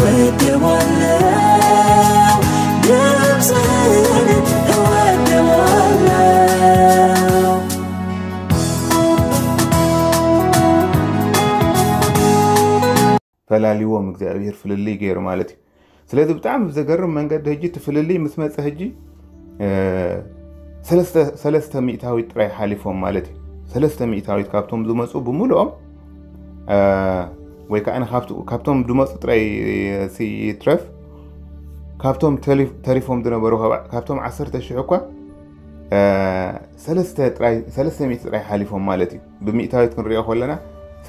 እወደዋለሁ፣ ድምፅህን እወደዋለሁ። ፈላሊዎም እግዚኣብሔር ፍልልይ ገይሩ ማለት እዩ። ስለዚ ብጣዕሚ ብዘገርም መንገዲ ሕጂ እቲ ፍልልይ ምስ መፀ ሕጂ ሰለስተ ሚእታዊት ጥራይ ሓሊፎም ማለት እዩ። ሰለስተ ሚእታዊት ካብቶም ዝመፁ ብምልኦም ወይ ከዓ ካብቶም ዝመፁ ጥራይ ይትረፍ፣ ካብቶም ተሪፎም ዝነበሩ፣ ካብቶም ዓሰርተ ሽሕ እኳ ሰለስተ ሚእቲ ጥራይ ሓሊፎም ማለት እዩ። ብሚእታዊት ክንሪኦ ከለና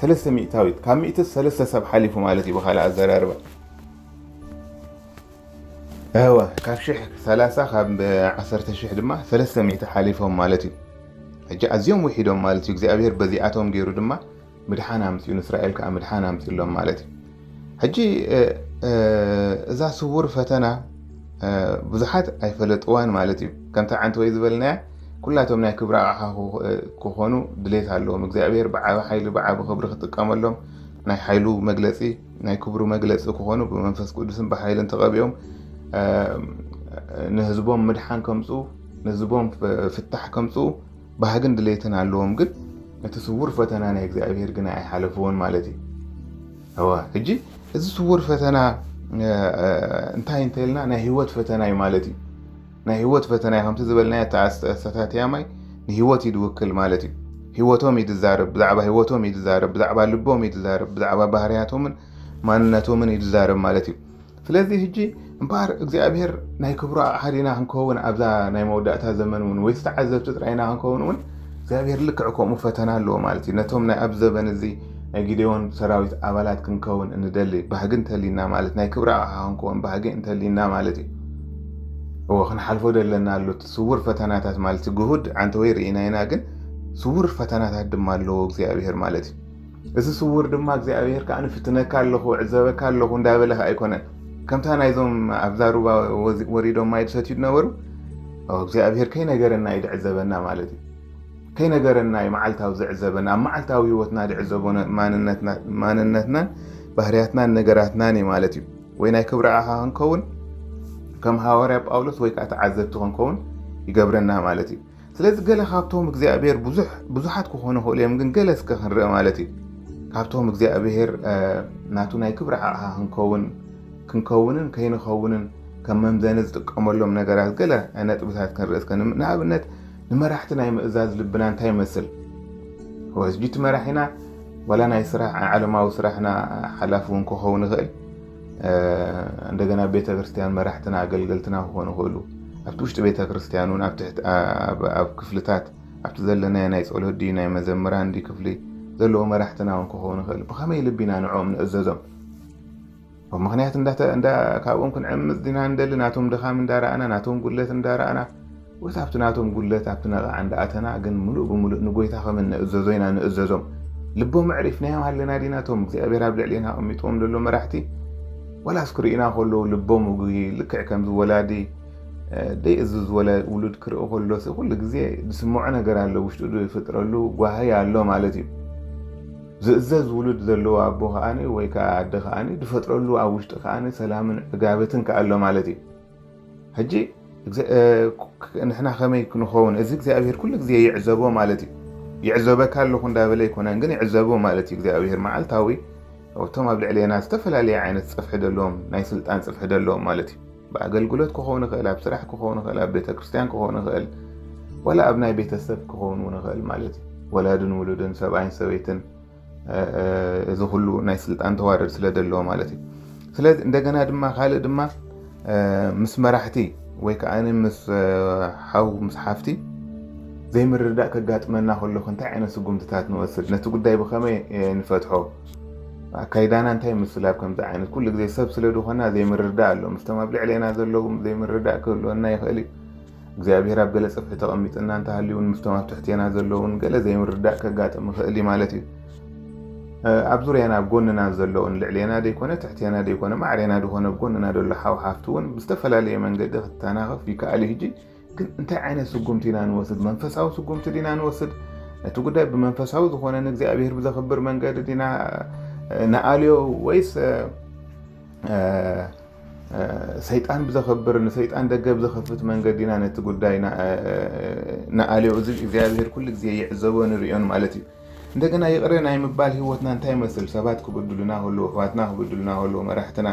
ሰለስተ ሚእታዊት፣ ካብ ሚእቲ ሰለስተ ሰብ ሓሊፉ ማለት እዩ። ብካልእ ኣዘራርባ እወ ካብ ሽሕ ሰላሳ፣ ካብ ዓሰርተ ሽሕ ድማ ሰለስተ ሚእቲ ሓሊፎም ማለት እዩ። ሕጂ ኣዝዮም ውሒዶም ማለት እዩ። እግዚኣብሔር በዚኣቶም ገይሩ ድማ ምድሓን ኣምፅኡ፣ ንእስራኤል ከዓ ምድሓን ኣምፅሎም ማለት እዩ። ሕጂ እዛ ስውር ፈተና ብዙሓት ኣይፈለጥዋን ማለት እዩ። ከምታ ዓንተወይ ዝበልናያ ኩላቶም ናይ ክብሪ ኣቕሓ ክኾኑ ድሌት ኣለዎም። እግዚኣብሔር ብዓቢ ሓይሊ ብዓቢ ክብሪ ክጥቀመሎም ናይ ሓይሉ መግለፂ ናይ ክብሩ መግለፂ ክኾኑ ብመንፈስ ቅዱስን ብሓይልን ተቐቢኦም ንህዝቦም ምድሓን ከምፅኡ ንህዝቦም ፍታሕ ከምፅኡ ባህግን ድሌትን ኣለዎም። ግን እቲ ስውር ፈተና ናይ እግዚኣብሔር ግን ኣይሓለፍዎን ማለት እዩ። እዋ ሕጂ እዚ ስውር ፈተና እንታይ እንተልና ናይ ህይወት ፈተና እዩ ማለት እዩ። ናይ ህይወት ፈተና እዩ። ከምቲ ዝበልናዮ ኣተኣሰታትያ ማይ ንህይወት እዩ ዝውክል ማለት እዩ። ህይወቶም እዩ ዝዛረብ፣ ብዛዕባ ህይወቶም እዩ ዝዛረብ፣ ብዛዕባ ልቦም እዩ ዝዛረብ፣ ብዛዕባ ባህርያቶምን ማንነቶምን እዩ ዝዛረብ ማለት እዩ። ስለዚ ሕጂ እምበኣር እግዚኣብሔር ናይ ክብሩ ኣቕሓ ዲና ክንከውን ኣብዛ ናይ መወዳእታ ዘመን እውን ወይ ዝተዓዘብቲ ጥራይና ክንከውን እውን እግዚኣብሔር ልክዕ ከምኡ ፈተና ኣለዎ ማለት እዩ። ነቶም ናይ ኣብ ዘበን እዚ ናይ ጊዴዎን ሰራዊት ኣባላት ክንከውን እንደሊ ባህጊ እንተሊና ማለት ናይ ክብሪ ኣቕሓ ክንከውን ባህጊ እንተሊና ማለት እዩ። እዎ ክንሓልፎ ደለና ኣሎ እቲ ስውር ፈተናታት ማለት እዩ። ግሁድ ዓንተ ወይ ርኢና ኢና፣ ግን ስውር ፈተናታት ድማ ኣለዎ እግዚኣብሔር ማለት እዩ። እዚ ስውር ድማ እግዚኣብሔር ከዓ ንፍትነካ ኣለኹ ዕዘበካ ኣለኹ እንዳበለ ከዓ ኣይኮነን። ከምታ ናይዞም ኣብዛ ሩባ ወሪዶም ማይ ዝሰትዩ ዝነበሩ እግዚኣብሔር ከይነገረና እዩ ዝዕዘበና ማለት እዩ። ከይነገረና እዩ መዓልታዊ ዝዕዘበና፣ ኣብ መዓልታዊ ህይወትና ዝዕዘቦ ማንነትናን ባህርያትናን ነገራትናን እዩ ማለት እዩ። ወይ ናይ ክብሪ ኣኻ ክንከውን ከም ሃዋርያ ጳውሎስ ወይ ከዓ ተዓዘብቲ ክንከውን ይገብረና ማለት እዩ። ስለዚ ገለ ካብቶም እግዚኣብሔር ብዙሓት ክኾኑ ይኽእሉ እዮም፣ ግን ገለ እስከ ክንርኢ ማለት እዩ። ካብቶም እግዚኣብሔር ናቱ ናይ ክብሪ ኣቕሓ ክንከውን ክንከውንን ከይንኸውንን ከም መምዘኒ ዝጥቀመሎም ነገራት ገለ ነጥብታት ክንርኢ እስከ። ንኣብነት ንመራሕቲ ናይ ምእዛዝ ልብና እንታይ ይመስል? ሕጂ እቲ መራሒና ዋላ ናይ ስራሕ ዓለማዊ ስራሕና ሓላፊ እውን ክኸውን ይኽእል። እንደገና ቤተ ክርስቲያን መራሕትና ኣገልገልትና ክኾኑ ይኽእሉ። ኣብቲ ውሽጢ ቤተ ክርስቲያን እውን ኣብ ክፍልታት ኣብቲ ዘለናዮ ናይ ጸሎት ድዩ ናይ መዘምራን ድዩ ክፍሊ ዘለዎ መራሕትና እውን ክኸውን ይኽእል። ብኸመይ ልቢ ኢና ንዕኦም ንእዘዞም? ምኽንያት ካብኦም ክንዕምፅ ዲና እንደሊ? ናቶም ድኻም እንዳረኣና ናቶም ጉድለት እንዳረኣና ወይስ ኣብቲ ናቶም ጉድለት ኣብቲ ነቓዕ እንዳኣተና ግን ምሉእ ብምሉእ ንጎይታ ከም እንእዘዞ ኢና ንእዘዞም? ልቦም ኣዕሪፍናዮም ኣለና ዲና? እቶም እግዚኣብሔር ኣብ ልዕሌና ኣቐሚጥዎም ዘሎ መራሕቲ ዋላስ ክርእዩና ከለዉ ልቦም ውጉይ ልክዕ ከምዚ ወላዲ ደይእዝዝ ወለ ውሉድ ክርኢ ከሎሲ ኩሉ ግዜ ዝስምዖ ነገር ኣሎ፣ ውሽጡ ዝፍጥረሉ ጓሂ ኣሎ ማለት እዩ። ዝእዘዝ ውሉድ ዘለዎ ኣቦ ከዓኒ ወይ ከዓ ኣደ ከዓኒ ዝፈጥረሉ ኣብ ውሽጢ ከዓኒ ሰላምን ዕጋበትን ከኣሎ ማለት እዩ። ሕጂ ንሕና ከመይ ክንኸውን እዚ እግዚኣብሔር ኩሉ ግዜ ይዕዘቦ ማለት እዩ። ይዕዘበካ ኣለኹ እንዳበለ ኣይኮነን ግን ይዕዘቦ ማለት እዩ እግዚኣብሔር መዓልታዊ እቶም ኣብ ልዕሌና ዝተፈላለየ ዓይነት ፀፍሒ ዘለዎም ናይ ስልጣን ፅፍሒ ዘለዎም ማለት እዩ። ብኣገልግሎት ክኸውን ይኽእል፣ ኣብ ስራሕ ክኸውን ይኽእል፣ ኣብ ቤተ ክርስቲያን ክኸውን ይኽእል፣ ዋላ ኣብ ናይ ቤተሰብ ክኸውን እውን ይኽእል ማለት እዩ። ወላድን ውሉድን ሰብኣይን ሰበይትን እዚ ኩሉ ናይ ስልጣን ተዋረድ ስለ ዘለዎ ማለት እዩ። ስለዚ እንደገና ድማ ካልእ ድማ ምስ መራሕቲ ወይ ከዓ ምስ ሓው ምስ ሓፍቲ ዘይምርዳእ ከጋጥመና ከሎ እንታይ ዓይነት ስጉምትታት ንወስድ? ነቲ ጉዳይ ብኸመይ ንፈትሖ? ኣካይዳና እንታይ ይመስል? ኣብ ከምዚ ዓይነት ኩሉ ግዜ ሰብ ስለ ዝኾና ዘይምርዳእ ኣሎ። ምስቶም ኣብ ልዕሌና ዘለዉ ዘይምርዳእ ክህልወና ይኽእል እዩ። እግዚኣብሔር ኣብ ገለ ጽፍሒ ተቐሚጥና እንተሃልዩ እውን ምስቶም ኣብ ትሕቴና ዘለዉ እውን ገለ ዘይምርዳእ ከጋጥም ይኽእል እዩ ማለት እዩ። ኣብ ዙርያና ኣብ ጎንና ዘለዉን ልዕሌና ደይኮነ ትሕቴና ደይኮነ ማዕሬና ዝኾነ ኣብ ጎንና ዘሎ ሓው ሓፍቲ እውን ብዝተፈላለየ መንገዲ ክተናኸፍ ይከኣል እዩ። ሕጂ ግን እንታይ ዓይነት ስጉምቲ ኢና ንወስድ? መንፈሳዊ ስጉምቲ ዲና ንወስድ? ነቲ ጉዳይ ብመንፈሳዊ ዝኾነ ንእግዚኣብሔር ብዘኽብር መንገዲ ዲና ንኣልዮ ወይስ ሰይጣን ብዘኸብር ንሰይጣን ደገ ብዘኸፍት መንገዲ ኢና ነቲ ጉዳይ ንኣልዮ። እዚ እግዚኣብሔር ኩሉ ግዜ ይዕዘቦ ንርእዮን ማለት እዩ። እንደገና ይቕረ ናይ ምባል ህይወትና እንታይ ይመስል? ሰባት ክብድሉና ከለዉ፣ ኣሕዋትና ክብድሉና ከለዉ፣ መራሕትና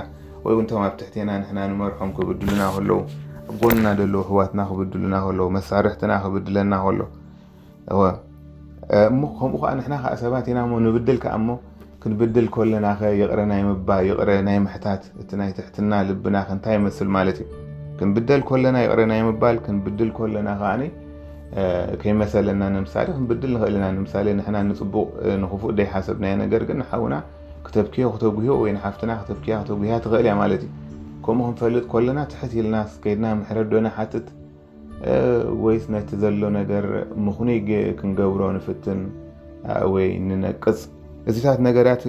ወይ እውን እቶም ኣብ ትሕቴና ንሕና ንመርሖም ክብድሉና ከለዉ፣ ኣብ ጎንና ዘለዉ ኣሕዋትና ክብድሉና ከለዉ፣ መሳርሕትና ክብድለና ከሎ እሞ ከምኡ ከዓ ንሕና ከዓ ሰባት ኢና እሞ ንብድል ከዓ እሞ ክንብድል ከለና ከ ይቕረ ናይ ምባ ይቕረ ናይ ምሕታት እቲ ናይ ትሕትና ልብና ከ እንታይ ይመስል ማለት እዩ? ክንብደል ከለና ይቕረ ናይ ምባል ክንብድል ከለና ከዓኒ ከይመሰለና ንምሳሌ ክንብድል ንኽእል ኢና። ንምሳሌ ንሕና ንፅቡቕ ንክፉእ ደይሓሰብናዮ ነገር ግን ንሓውና ክተብክዮ ክተጉህዮ ወይ ንሓፍትና ክተብክያ ክተጉህያ ትኽእል እያ ማለት እዩ። ከምኡ ክንፈልጥ ከለና ትሕት ኢልና ከይድና ምሕረት ዶ ንሓትት ወይስ ነቲ ዘሎ ነገር ምኽኑይ ክንገብሮ ንፍትን ወይ ንነቅጽ? እዚታት ነገራት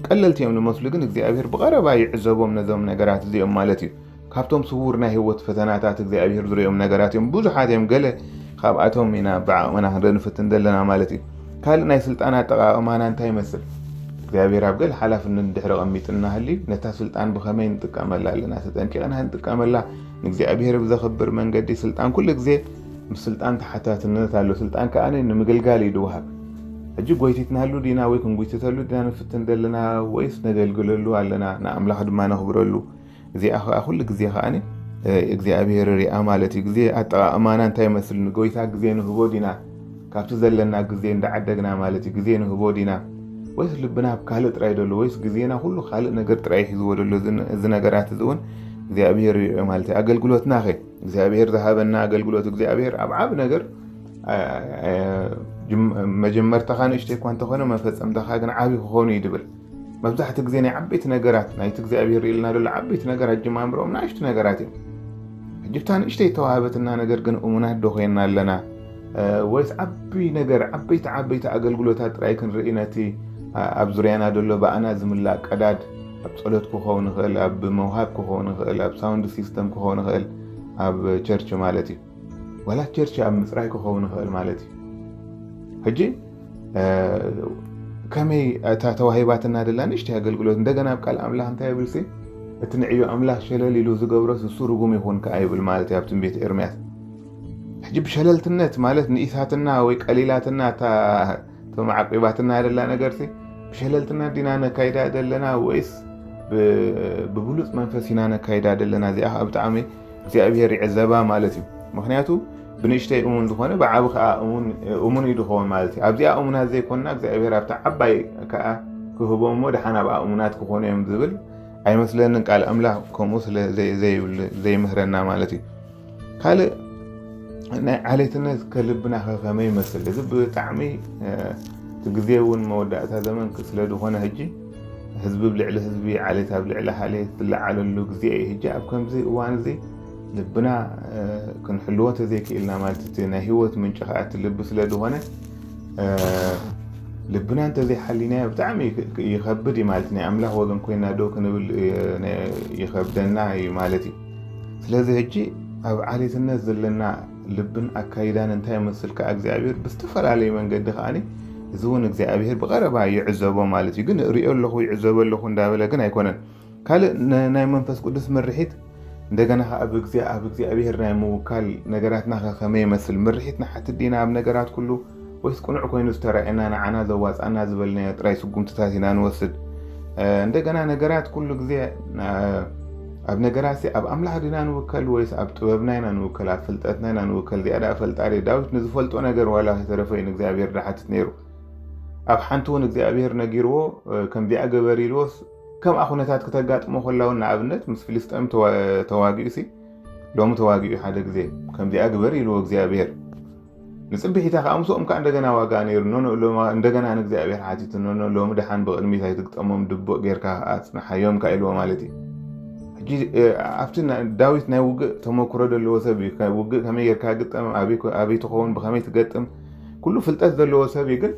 ቀለልቲ እዮም ዝመስሉ፣ ግን እግዚኣብሔር ብቐረባ ይዕዘቦም ነዞም ነገራት እዚኦም ማለት እዩ። ካብቶም ስውር ናይ ህይወት ፈተናታት እግዚኣብሔር ዝርእዮም ነገራት እዮም። ብዙሓት እዮም፣ ገለ ካብኣቶም ኢና ብዓቕምና ክንርኢ ንፍትን ዘለና ማለት እዩ። ካልእ ናይ ስልጣን ኣጠቓቕማና እንታይ ይመስል? እግዚኣብሔር ኣብ ገለ ሓላፍነት ድሕሪ ቐሚጥና ህልዩ ነታ ስልጣን ብኸመይ ንጥቀመላ ኣለና? ተጠንቂቕና ንጥቀመላ ንእግዚኣብሔር ብዘኽብር መንገዲ ስልጣን ኩሉ ግዜ ምስ ስልጣን ተሓታትነት ኣሎ። ስልጣን ከኣ ንምግልጋል እዩ ዝወሃብ። ሕጂ ጎይቲትናሉ ዲና ወይ ክንጉይትተሉ ዲና ንፍትን ዘለና ወይስ ነገልግለሉ ኣለና ንኣምላኽ ድማ ነኽብረሉ? እዚኣ ከኣ ኩሉ ግዜ ከኣ እግዚኣብሔር ሪኣ ማለት እዩ። ግዜ ኣጠቓቕማና እንታይ ይመስል? ንጎይታ ግዜ ንህቦ ዲና ካብቲ ዘለና ግዜ እንዳዓደግና ማለት እዩ ግዜ ንህቦ ዲና ወይስ ልብና ኣብ ካልእ ጥራይ ደሎ ወይስ ግዜና ኩሉ ካልእ ነገር ጥራይ ሒዝዎ ደሎ? እዚ ነገራት እዚ እውን እግዚኣብሔር ይሪኦ ማለት እዩ። ኣገልግሎትና ኸ እግዚኣብሔር ዝሃበና ኣገልግሎት እግዚኣብሔር ኣብ ዓብ ነገር መጀመርታኻ ንእሽተይ እኳ እንተኾነ መፈጸምታኻ ግን ዓብ ክኾኑ እዩ ድብል። መብዛሕቲ ግዜ ናይ ዓበይቲ ነገራት ናይቲ እግዚኣብሔር ርእልና ዘሎ ዓበይቲ ነገር ኣጀማምሮኦም ንኣሽቱ ነገራት እዮም። ሕጂ ብታ ንእሽተይ ተዋህበትና ነገር ግን እሙናት ዶ ኮይንና ኣለና? ወይስ ዓቢ ነገር ዓበይቲ ዓበይቲ ኣገልግሎታት ጥራይ ክንርኢ ነቲ ኣብ ዙርያና ዘሎ ብኣና ዝምላእ ቀዳድ ኣብ ጸሎት ክኸውን ይኽእል፣ ኣብ መውሃብ ክኸውን ይኽእል፣ ኣብ ሳውንድ ሲስተም ክኸውን ይኽእል፣ ኣብ ቸርች ማለት እዩ። ዋላ ቸርች ኣብ ምጽራይ ክኸውን ይኽእል ማለት እዩ። ሕጂ ከመይ እታ ተዋሂባትና ደላ ንእሽተይ ኣገልግሎት እንደገና ኣብ ቃል ኣምላኽ እንታይ ይብል ሲ እቲ ንዕዮ ኣምላኽ ሸለል ኢሉ ዝገብሮስ እሱ ርጉም ይኹን ከኣ ይብል ማለት እዩ ኣብ ትንቢት ኤርምያስ። ሕጂ ብሸለልትነት ማለት ንኢሳትና ወይ ቀሊላትና እታ እቶም ዓቂባትና ደላ ነገርሲ ብሸለልትና ዲና ነካይዳ ደለና ወይስ ብብሉፅ መንፈስ ኢና ነካይዳ ደለና? እዚኣ ከዓ ብጣዕሚ እግዚኣብሔር ይዕዘባ ማለት እዩ። ምክንያቱ ብንእሽተይ እሙን ዝኾነ ብዓቢ ከዓ እሙን እዩ ዝኸውን ማለት እዩ። ኣብዚኣ እሙናት ዘይኮንና እግዚኣብሔር ኣብታ ዓባይ ከዓ ክህቦ እሞ ደሓን ኣብኣ እሙናት ክኾኑ እዮም ዝብል ኣይመስለንን። ቃል ኣምላኽ ከምኡ ስለ ዘይምህረና ማለት እዩ። ካልእ ናይ ዓሌትነት ከልብና ከከመይ ይመስል? እዚ ብጣዕሚ እቲ ግዜ እውን መወዳእታ ዘመን ስለ ዝኾነ ሕጂ ህዝቢ ብልዕሊ ህዝቢ ዓሌት ኣብ ልዕሊ ዓሌት ዝለዓለሉ ግዜ እዩ። ሕጂ ኣብ ከምዚ እዋን እዚ ልብና ክንሕልዎ ተዘይክኢልና ማለት እቲ ናይ ህይወት ምንጭ ከዓ እቲ ልቢ ስለ ዝኾነ ልብና እንተዘይሓሊናዮ ብጣዕሚ ይኸብድ እዩ ማለት ናይ ኣምላኽ ወገን ኮይና ደው ክንብል ይኸብደና እዩ ማለት እዩ። ስለዚ ሕጂ ኣብ ዓሌትነት ዘለና ልብን ኣካይዳን እንታይ ይመስል ከዓ እግዚኣብሔር ብዝተፈላለየ መንገዲ ከዓኒ እዚ እውን እግዚኣብሔር ብቐረባ ይዕዘቦ ማለት እዩ። ግን ርእዮ ኣለኹ ይዕዘቦ ኣለኹ እንዳበለ ግን ኣይኮነን። ካልእ ናይ መንፈስ ቅዱስ ምርሒት እንደገና ከዓ ብግዜ ኣብ እግዚኣብሔር ናይ ምውካል ነገራትና ከ ከመይ ይመስል? ምርሒት ንሓትት ዲና ኣብ ነገራት ኩሉ ወይስ ቅኑዕ ኮይኑ ዝተረኣየና ንዓና ዘዋፃና ዝበልናዮ ጥራይ ስጉምትታት ኢና ንወስድ? እንደገና ነገራት ኩሉ ግዜ ኣብ ነገራት ኣብ ኣምላኽ ዲና ንውከል ወይስ ኣብ ጥበብና ኢና ንውከል ኣብ ፍልጠትና ኢና ንውከል? እዚኣ ደኣ ፈልጣ ዳዊት ንዝፈልጦ ነገር ዋላ ከይተረፈ እዩ ንእግዚኣብሔር ዝሓትት ነይሩ። ኣብ ሓንቲ እውን እግዚኣብሔር ነጊርዎ ከምዚኣ ገበር ኢልዎስ ከምኣ ኩነታት ክተጋጥሞ ከላ እውን ንኣብነት ምስ ፍልስጤም ተዋጊኡ ሲ ሎሚ ተዋጊኡ ሓደ ግዜ ከምዚኣ ግበር ኢልዎ እግዚኣብሔር። ንፅብሒታ ከዓ ምስኦም ከዓ እንደገና ዋጋ ነይሩ ኖኖ እንደገና ንእግዚኣብሔር ሓቲቱ ኖኖ ሎሚ ደሓን ብቅድሚት ኣይትግጠሞም ድቡቅ ጌርካ ኣፅንሓዮም ከዓ ኢልዎ ማለት እዩ። ሕጂ ኣብቲ ዳዊት ናይ ውግእ ተመክሮ ዘለዎ ሰብ እዩ። ውግእ ከመይ ጌርካ ግጠም ኣበይ ትኸውን ብከመይ ትገጥም ኩሉ ፍልጠት ዘለዎ ሰብ እዩ። ግን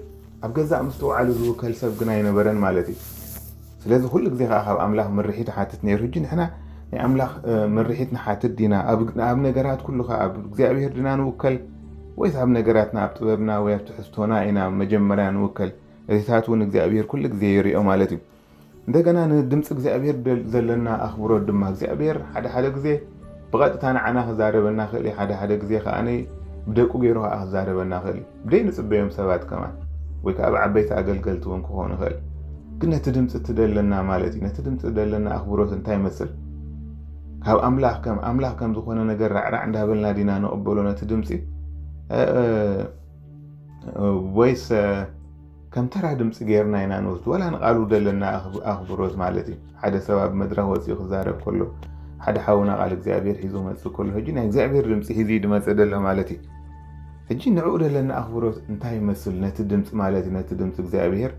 ኣብ ገዛእ ምስትውዓሉ ዝውከል ሰብ ግን ኣይነበረን ማለት እዩ። ስለዚ ኩሉ ግዜ ከዓ ካብ ኣምላኽ ምርሒት ሓትት ነይሩ። ሕጂ ንሕና ናይ ኣምላኽ ምርሒት ንሓትት ዲና ኣብ ነገራት ኩሉ ከዓ ኣብ እግዚኣብሔር ዲና ንውከል ወይስ ኣብ ነገራትና ኣብ ጥበብና ወይ ኣብ ትሕዝቶና ኢና መጀመርያ ንውከል? እዚታት እውን እግዚኣብሔር ኩሉ ግዜ ይሪኦ ማለት እዩ። እንደገና ንድምፂ እግዚኣብሔር ዘለና ኣኽብሮት ድማ እግዚኣብሔር ሓደ ሓደ ግዜ ብቐጥታ ንዓና ክዛረበና ክእል እዩ። ሓደ ሓደ ግዜ ከዓ ብደቁ ገይሩ ከዓ ክዛረበና ክእል እዩ። ብደይ ንፅበዮም ሰባት ከማን ወይ ከዓ ብዓበይቲ ኣገልገልቲ እውን ክኾኑ ይኽእል። ግን ነቲ ድምፂ እቲ ደለና ማለት እዩ። ነቲ ድምፂ ደለና ኣኽብሮት እንታይ ይመስል? ካብ ኣምላኽ ከም ኣምላኽ ከም ዝኾነ ነገር ራዕራዕ እንዳበልና ዲና ንቕበሎ ነቲ ድምፂ ወይስ ከም ተራ ድምፂ ገይርና ኢና ንወስድ? ዋላ ንቃሉ ደለና ኣኽብሮት ማለት እዩ። ሓደ ሰብ ኣብ መድረኽ ወፂኡ ክዛረብ ከሎ ሓደ ሓውና ቃል እግዚኣብሔር ሒዙ መፅእ ከሎ ሕጂ ናይ እግዚኣብሔር ድምፂ ሒዙ ድመፅእ ደሎ ማለት እዩ። ሕጂ ንዕኡ ደለና ኣኽብሮት እንታይ ይመስል? ነቲ ድምፂ ማለት እዩ። ነቲ ድምፂ እግዚኣብሔር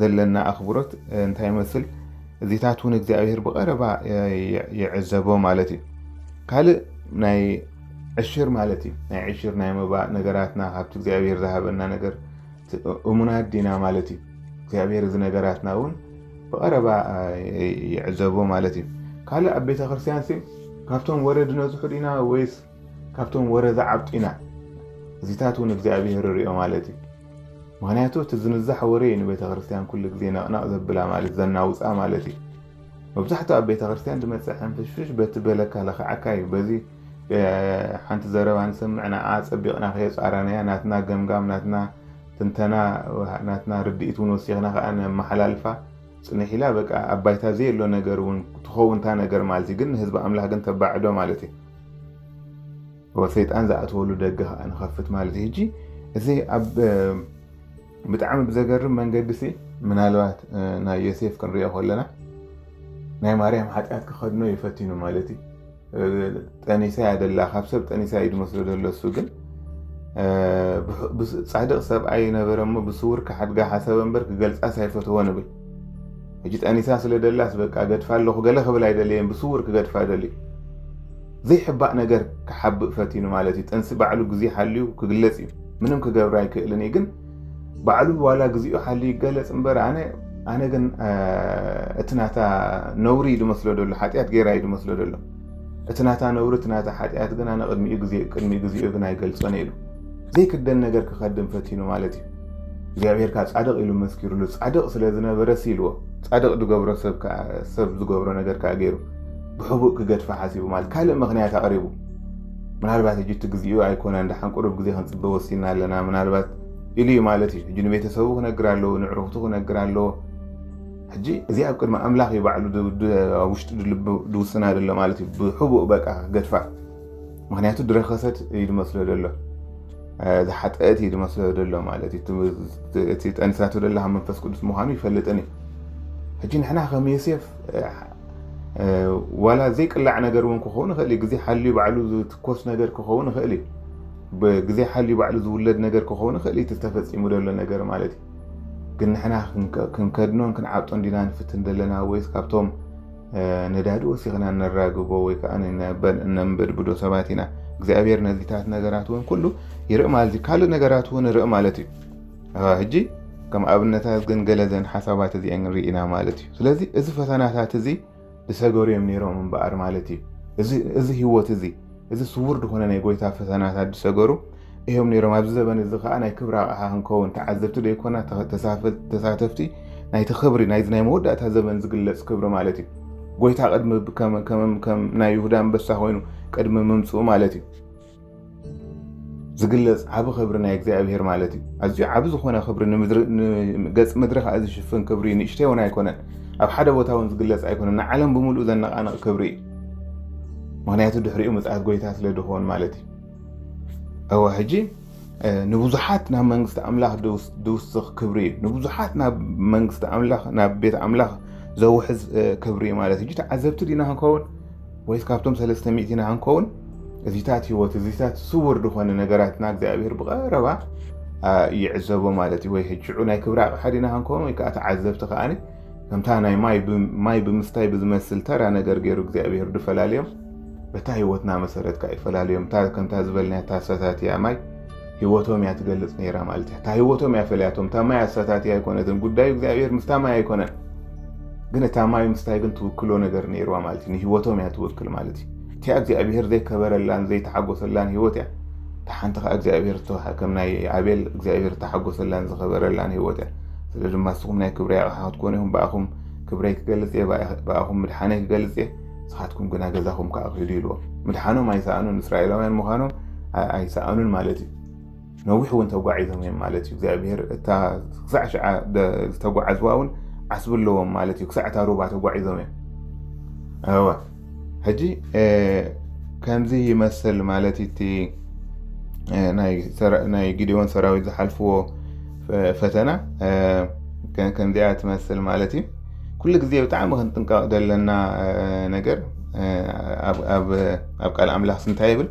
ዘለና ኣኽብሮት እንታይ ይመስል? እዚታት እውን እግዚኣብሔር ብቐረባ ይዕዘቦ ማለት እዩ። ካልእ ናይ ዕሽር ማለት እዩ። ናይ ዕሽር ናይ መባእ ነገራትና ካብቲ እግዚኣብሔር ዝሃበና ነገር እሙናት ዲና ማለት እዩ። እግዚኣብሔር እዚ ነገራትና እውን ብቐረባ ይዕዘቦ ማለት እዩ። ካልእ ኣብ ቤተ ክርስቲያን ሲ ካብቶም ወረ ድነዝሑ ዲና ወይስ ካብቶም ወረ ዝዓብጡ ኢና? እዚታት እውን እግዚኣብሔር ይሪኦ ማለት እዩ። ምክንያቱ እቲ ዝንዛሕ ወረ እዩ ንቤተ ክርስቲያን ኩሉ ግዜ ነቕነቕ ዘብላ ማለት ዘናውፃ ማለት እዩ። መብዛሕትኡ ኣብ ቤተ ክርስቲያን ዝመፅእ ሕንፍሽፍሽ በቲ በለካ ለኽዓካ እዩ። በዚ ሓንቲ ዘረባ ንሰምዕ ንዓ ፀቢቕና ከየፃረናያ ናትና ገምጋም ናትና ትንተና ናትና ርድኢት እውን ወሲኽና ከዓ ነመሓላልፋ ፅንሕ ኢላ በቃ ኣብ ባይታ ዘየሎ ነገር እውን ትኸውን እታ ነገር ማለት እዩ። ግን ንህዝቢ ኣምላኽ ግን ተባዕዶ ማለት እዩ። ሰይጣን ዝኣተወሉ ደገ ከዓ ንኸፍት ማለት እዩ። ሕጂ እዚ ኣብ ብጣዕሚ ብዘገርም መንገዲ ሲ ምናልባት ናይ ዮሴፍ ክንሪኦ ከለና ናይ ማርያም ሓጢኣት ክኸድኖ ይፈቲኑ ማለት እዩ። ጠኒሳ እያ ደላ ካብ ሰብ ጠኒሳ እዩ ዝመስሎ ዘሎ እሱ ግን ጻድቕ ሰብኣይ ነበረ እሞ ብስውር ክሓድጋ ሓሰበ እምበር ክገልጻስ ኣይፈተወ ንብል። ሕጂ ጠኒሳ ስለ ደላስ በቃ ገድፋ ኣለኹ ገለ ክብል ኣይደለየን ብስውር ክገድፋ ደልዩ ዘይሕባእ ነገር ክሓብእ ፈቲኑ ማለት እዩ። ጥንሲ ባዕሉ ግዜ ሓልዩ ክግለጽ እዩ። ምንም ክገብር ኣይክእልን እዩ ግን ባዕሉ ዋላ ግዜኡ ሓልዩ ይገለጽ እምበር ኣነ ኣነ ግን እቲ ናታ ነውሪ እዩ ዝመስሎ ዘሎ ሓጢኣት ገይራ እዩ ዝመስሎ ዘሎ። እቲ ናታ ነውሪ እቲ ናታ ሓጢኣት ግን ኣነ ቅድሚኡ ግዜ ቅድሚ ግዜኡ ግን ኣይገልጾን ኢሉ ዘይክደን ነገር ክኸድም ፈቲኑ ማለት እዩ። እግዚኣብሔር ከዓ ጻድቕ ኢሉ መስኪሩሉ ጻድቕ ስለ ዝነበረ ሲ ኢልዎ ጻድቕ ዝገብሮ ሰብ ዝገብሮ ነገር ከዓ ገይሩ ብሕቡእ ክገድፋ ሓሲቡ ማለት ካልእ ምኽንያት ኣቕሪቡ ምናልባት ሕጂ እቲ ግዜኡ ኣይኮነን ደሓን ቁሩብ ግዜ ክንፅበ ወሲና ኣለና ምናልባት ኢሉ እዩ ማለት እዩ። ሕጂ ንቤተሰቡ ክነግር ኣለዎ ንዕሩኽቱ ክነግር ኣለዎ። ሕጂ እዚ ኣብ ቅድሚ ኣምላኽ እዩ ባዕሉ ኣብ ውሽጡ ድውስና ዘሎ ማለት እዩ። ብሕቡእ በቃ ክገድፋ ምክንያቱ ድረኸሰት እዩ ዝመስሎ ዘሎ ዝሓጠአት እዩ ዝመስሎ ዘሎ ማለት እዩ። እቲ ጠኒሳቶ ደላ ካብ መንፈስ ቅዱስ ምዃኑ ይፈልጥን እዩ። ሕጂ ንሕና ከም ዮሴፍ ዋላ ዘይቅላዕ ነገር እውን ክኸውን ይኽእል እዩ። ግዜ ሓልዩ ባዕሉ ዝትኮስ ነገር ክኸውን ይኽእል እዩ። ብግዜ ሓልዩ ባዕሉ ዝውለድ ነገር ክኸውን ይኽእል እዩ። እቲ ዝተፈፂሙ ዘሎ ነገር ማለት እዩ። ግን ንሕና ክንከድኖን ክንዓብጦን ዲና ንፍትን ዘለና ወይስ ካብቶም ነዳዲ ወሲኽና ነራግቦ ወይ ከዓ እነንበድብዶ ሰባት ኢና። እግዚኣብሔር ነዚታት ነገራት እውን ኩሉ ይርኢ ማለት እዩ። ካልእ ነገራት እውን ይርኢ ማለት እዩ። ሕጂ ከም ኣብነታት ግን ገለ ዘን ሓሳባት እዚአን ንርኢ ኢና ማለት እዩ። ስለዚ እዚ ፈተናታት እዚ ዝሰገሩ እዮም ነይሮም እምበኣር ማለት እዩ። እዚ ህይወት እዚ እዚ ስውር ዝኾነ ናይ ጎይታ ፈተናታት ዝሰገሩ እዮም ነይሮም። ኣብዚ ዘበን እዚ ከዓ ናይ ክብሪ ኣቕሓ ክንከውን ተዓዘብቲ ደይኮና ተሳተፍቲ ናይቲ ክብሪ ናይዚ ናይ መወዳእታ ዘበን ዝግለጽ ክብሪ ማለት እዩ። ጎይታ ቅድሚ ከም ናይ ይሁዳ ኣንበሳ ኮይኑ ቅድሚ ምምፅኡ ማለት እዩ። ዝግለጽ ዓቢ ክብሪ ናይ እግዚኣብሔር ማለት እዩ። ኣዝዩ ዓቢ ዝኾነ ክብሪ ገጽ ምድሪ ከዓ ዝሽፍን ክብሪ ንእሽተይ እውን ኣይኮነን። ኣብ ሓደ ቦታ እውን ዝግለጽ ኣይኮነን። ንዓለም ብምሉእ ዘነቃንቕ ክብሪ እዩ። ምክንያቱ ድሕሪኡ ምጽኣት ጎይታ ስለ ድኾን ማለት እዩ። እወ ሕጂ ንብዙሓት ናብ መንግስቲ ኣምላኽ ድውስኽ ክብሪ እዩ። ንብዙሓት ናብ መንግስቲ ኣምላኽ ናብ ቤት ኣምላኽ ዘውሕዝ ክብሪ እዩ ማለት እዩ። ተዓዘብቲ ዲና ክንከውን ወይስ ካብቶም ሰለስተ ሚእቲ ኢና ክንከውን? እዚታት ህይወት እዚታት ስውር ዝኾነ ነገራትና እግዚኣብሔር ብቐረባ ይዕዘቦ ማለት እዩ። ወይ ሕጂ ሽዑ ናይ ክብሪ ኣቕሓ ዲና ክንከውን ወይ ከዓ ተዓዘብቲ ከዓኒ ከምታ ናይ ማይ ማይ ብምስታይ ብዝመስል ተራ ነገር ገይሩ እግዚኣብሔር ድፈላለዮም በታ ህይወትና መሰረት ከዓ ይፈላለዮም። እታ ከምታ ዝበልናያ እታ ሰታትያ ማይ ህይወቶም እያ ትገልጽ ነይራ ማለት እያ። እታ ህይወቶም እያ ፈልያቶም። እታ ማይ ኣሳታትያ ኣይኮነትን። ጉዳዩ እግዚኣብሔር ምስታ ማይ ኣይኮነን። ግን እታ ማይ ምስታይ ግን ትውክሎ ነገር ነይርዋ ማለት እዩ። ንህይወቶም እያ ትውክል ማለት እዩ። እቲኣ እግዚኣብሔር ዘይከበረላን ዘይተሓጎሰላን ህይወት እያ። እታ ሓንቲ ከዓ እግዚኣብሔር ዝተዋሓ ከም ናይ ኣቤል እግዚኣብሔር ዝተሓጎሰላን ዝኸበረላን ህይወት እያ። ስለ ድማ ንስኹም ናይ ክብረይ ኣቕሓ ክትኮኑ ኢኹም፣ ብኣኹም ክብረይ ክገልጽ እየ፣ ብኣ- ብኣኹም ምድሓነይ ክገልጽ እየ፣ ንስኻትኩም ግና ገዛኹም ከኣ ክሂዱ ኢልዎም። ምድሓኖም ኣይሰኣኑን፣ እስራኤላውያን ምዃኖም ኣ- ኣይሰኣኑን ማለት እዩ። ነዊሕ እውን ተጓዒዞም እዮም ማለት እዩ። እግዚኣብሔር እታ ክሳዕ ሽዓ ደ- ዝተጓዓዝዋ እውን ዓስቢ ኣለዎም ማለት እዩ። ክሳዕ እታ ሩባ ተጓዒዞም እዮም። እወ፣ ሕጂ ከምዚ ይመስል ማለት እዩ። እቲ ናይ ጊዲዮን ሰራዊት ዝሓልፍዎ ፈተና ከምዚኣ ትመስል ማለት እዩ። ኩሉ ግዜ ብጣዕሚ ክንጥንቀቕ ዘለና ነገር ኣብ ቃል ኣምላኽ እንታይ ይብል?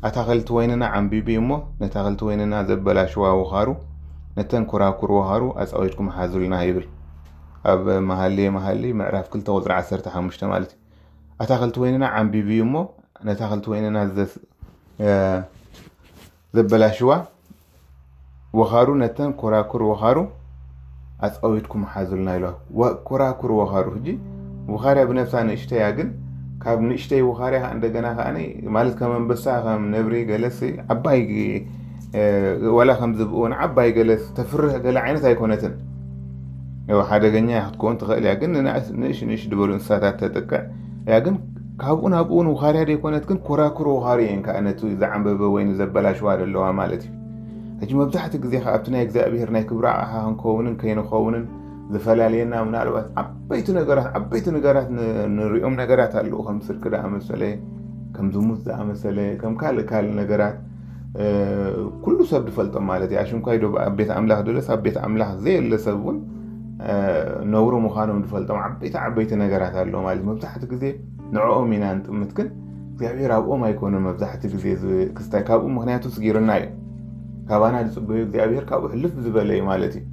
ኣታኸልቲ ወይንና ዓንቢቢ እሞ ነታኸልቲ ወይንና ዘበላሽዋ ወኻሩ ነተን ኮራኩር ወኻሩ ኣፃዊድኩም ሓዙልና ይብል። ኣብ መሃሌ መሃሌ ምዕራፍ ክልተ ቁፅሪ ዓሰርተ ሓሙሽተ ማለት እዩ። ኣታኸልቲ ወይንና ዓንቢቢ እሞ ነታኸልቲ ወይንና ዘበላሽዋ ወኻሩ ነተን ኮራኩር ወኻሩ ኣፃዊድኩም ሓዙልና ኢሎ። ኮራኩር ወኻሩ ሕጂ ውኻርያ ብነብሳ ንእሽተያ ግን ካብ ንእሽተይ ውኻርያ ከዓ እንደገና ከዓ ማለት ከም ኣንበሳ ከም ነብሪ ገለስ ዓባይ ዋላ ከም ዝብእወን ዓባይ ገለስ ተፍርህ ገለ ዓይነት ኣይኮነትን። ሓደገኛ ክትከውን ትኽእል እያ ግን ንእሽ ንእሽ ዝበሉ እንስሳታት ተጥቅዕ እያ ግን ካብኡ ናብኡ እውን ውኻርያ ዘይኮነት ግን ኮራኩር ውኻሪ እየን ከዓ ነቲ ዝዓንበበ ወይ ዘበላሽዋ ዘለዋ ማለት እዩ። ሕጂ መብዛሕትኡ ግዜ ከ ኣብቲ ናይ እግዚኣብሔር ናይ ክብሪ ኣቕሓ ክንከውንን ከይንኸውንን ዝፈላልየና ምናልባት ዓበይቲ ነገራት ዓበይቲ ነገራት ንሪኦም ነገራት ኣለዉ ከም ስርቂ ዝኣመሰለ ከም ዝሙት ዝኣመሰለ ከም ካልእ ካልእ ነገራት ኩሉ ሰብ ዝፈልጦም ማለት እዩ። ኣሽንኳይ ዶ ኣብ ቤት ኣምላኽ ደለስ ኣብ ቤት ኣምላኽ ዘየለ ሰብ እውን ነውሪ ምዃኖም ዝፈልጦም ዓበይቲ ዓበይቲ ነገራት ኣለዉ ማለት መብዛሕትኡ ግዜ ንዕኦም ኢና ንጥምት ግን እግዚኣብሔር ኣብኦም ኣይኮነ መብዛሕትኡ ግዜ ክስታይ ካብኡ ምክንያቱ ስጊርና እዩ። ካባና ዝፅበዩ እግዚኣብሔር ካብኡ ሕልፍ ዝበለ እዩ ማለት እዩ።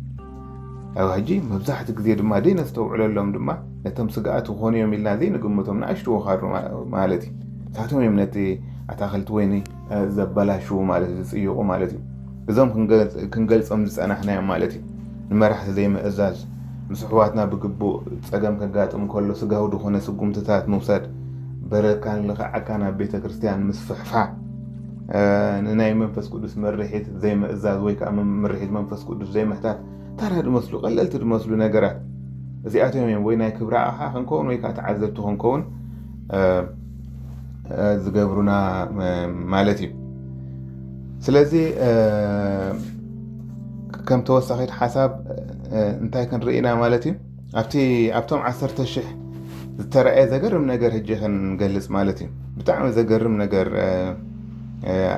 ኣብ ሕጂ መብዛሕትኡ ግዜ ድማ ዘይነስተውዕለሎም ድማ ነቶም ስግኣት ዝኾኑ እዮም ኢልና ዘይንግምቶም ንኣሽቱ ወኻሩ ማለት እዩ። ንሳቶም እዮም ነቲ ኣታኸልቲ ወይኒ ዘበላሽዉ ማለት ዝፅይቑ ማለት እዩ። እዞም ክንገልፆም ዝፀናሕናዮም ማለት እዩ። ንመራሕቲ ዘይምእዛዝ ምስ ኣሕዋትና ብግቡእ ፀገም ከጋጥም ከሎ ስጋዊ ዝኾነ ስጉምትታት ምውሳድ በረካ ንልኽዓካ ናብ ቤተ ክርስቲያን ምስፍሕፋ ንናይ መንፈስ ቅዱስ መርሒት ዘይምእዛዝ ወይ ከዓ ምርሒት መንፈስ ቅዱስ ዘይምሕታት ታራ ዝመስሉ ቀለልቲ ዝመስሉ ነገራት እዚኣቶም እዮም ወይ ናይ ክብሪ ኣቕሓ ክንከውን ወይ ከዓ ተዓዘብቲ ክንከውን ዝገብሩና ማለት እዩ። ስለዚ ከም ተወሳኺት ሓሳብ እንታይ ክንርኢ ኢና ማለት እዩ? ኣብቲ ኣብቶም ዓሰርተ ሽሕ ዝተረኣየ ዘገርም ነገር ሕጂ ክንገልጽ ማለት እዩ። ብጣዕሚ ዘገርም ነገር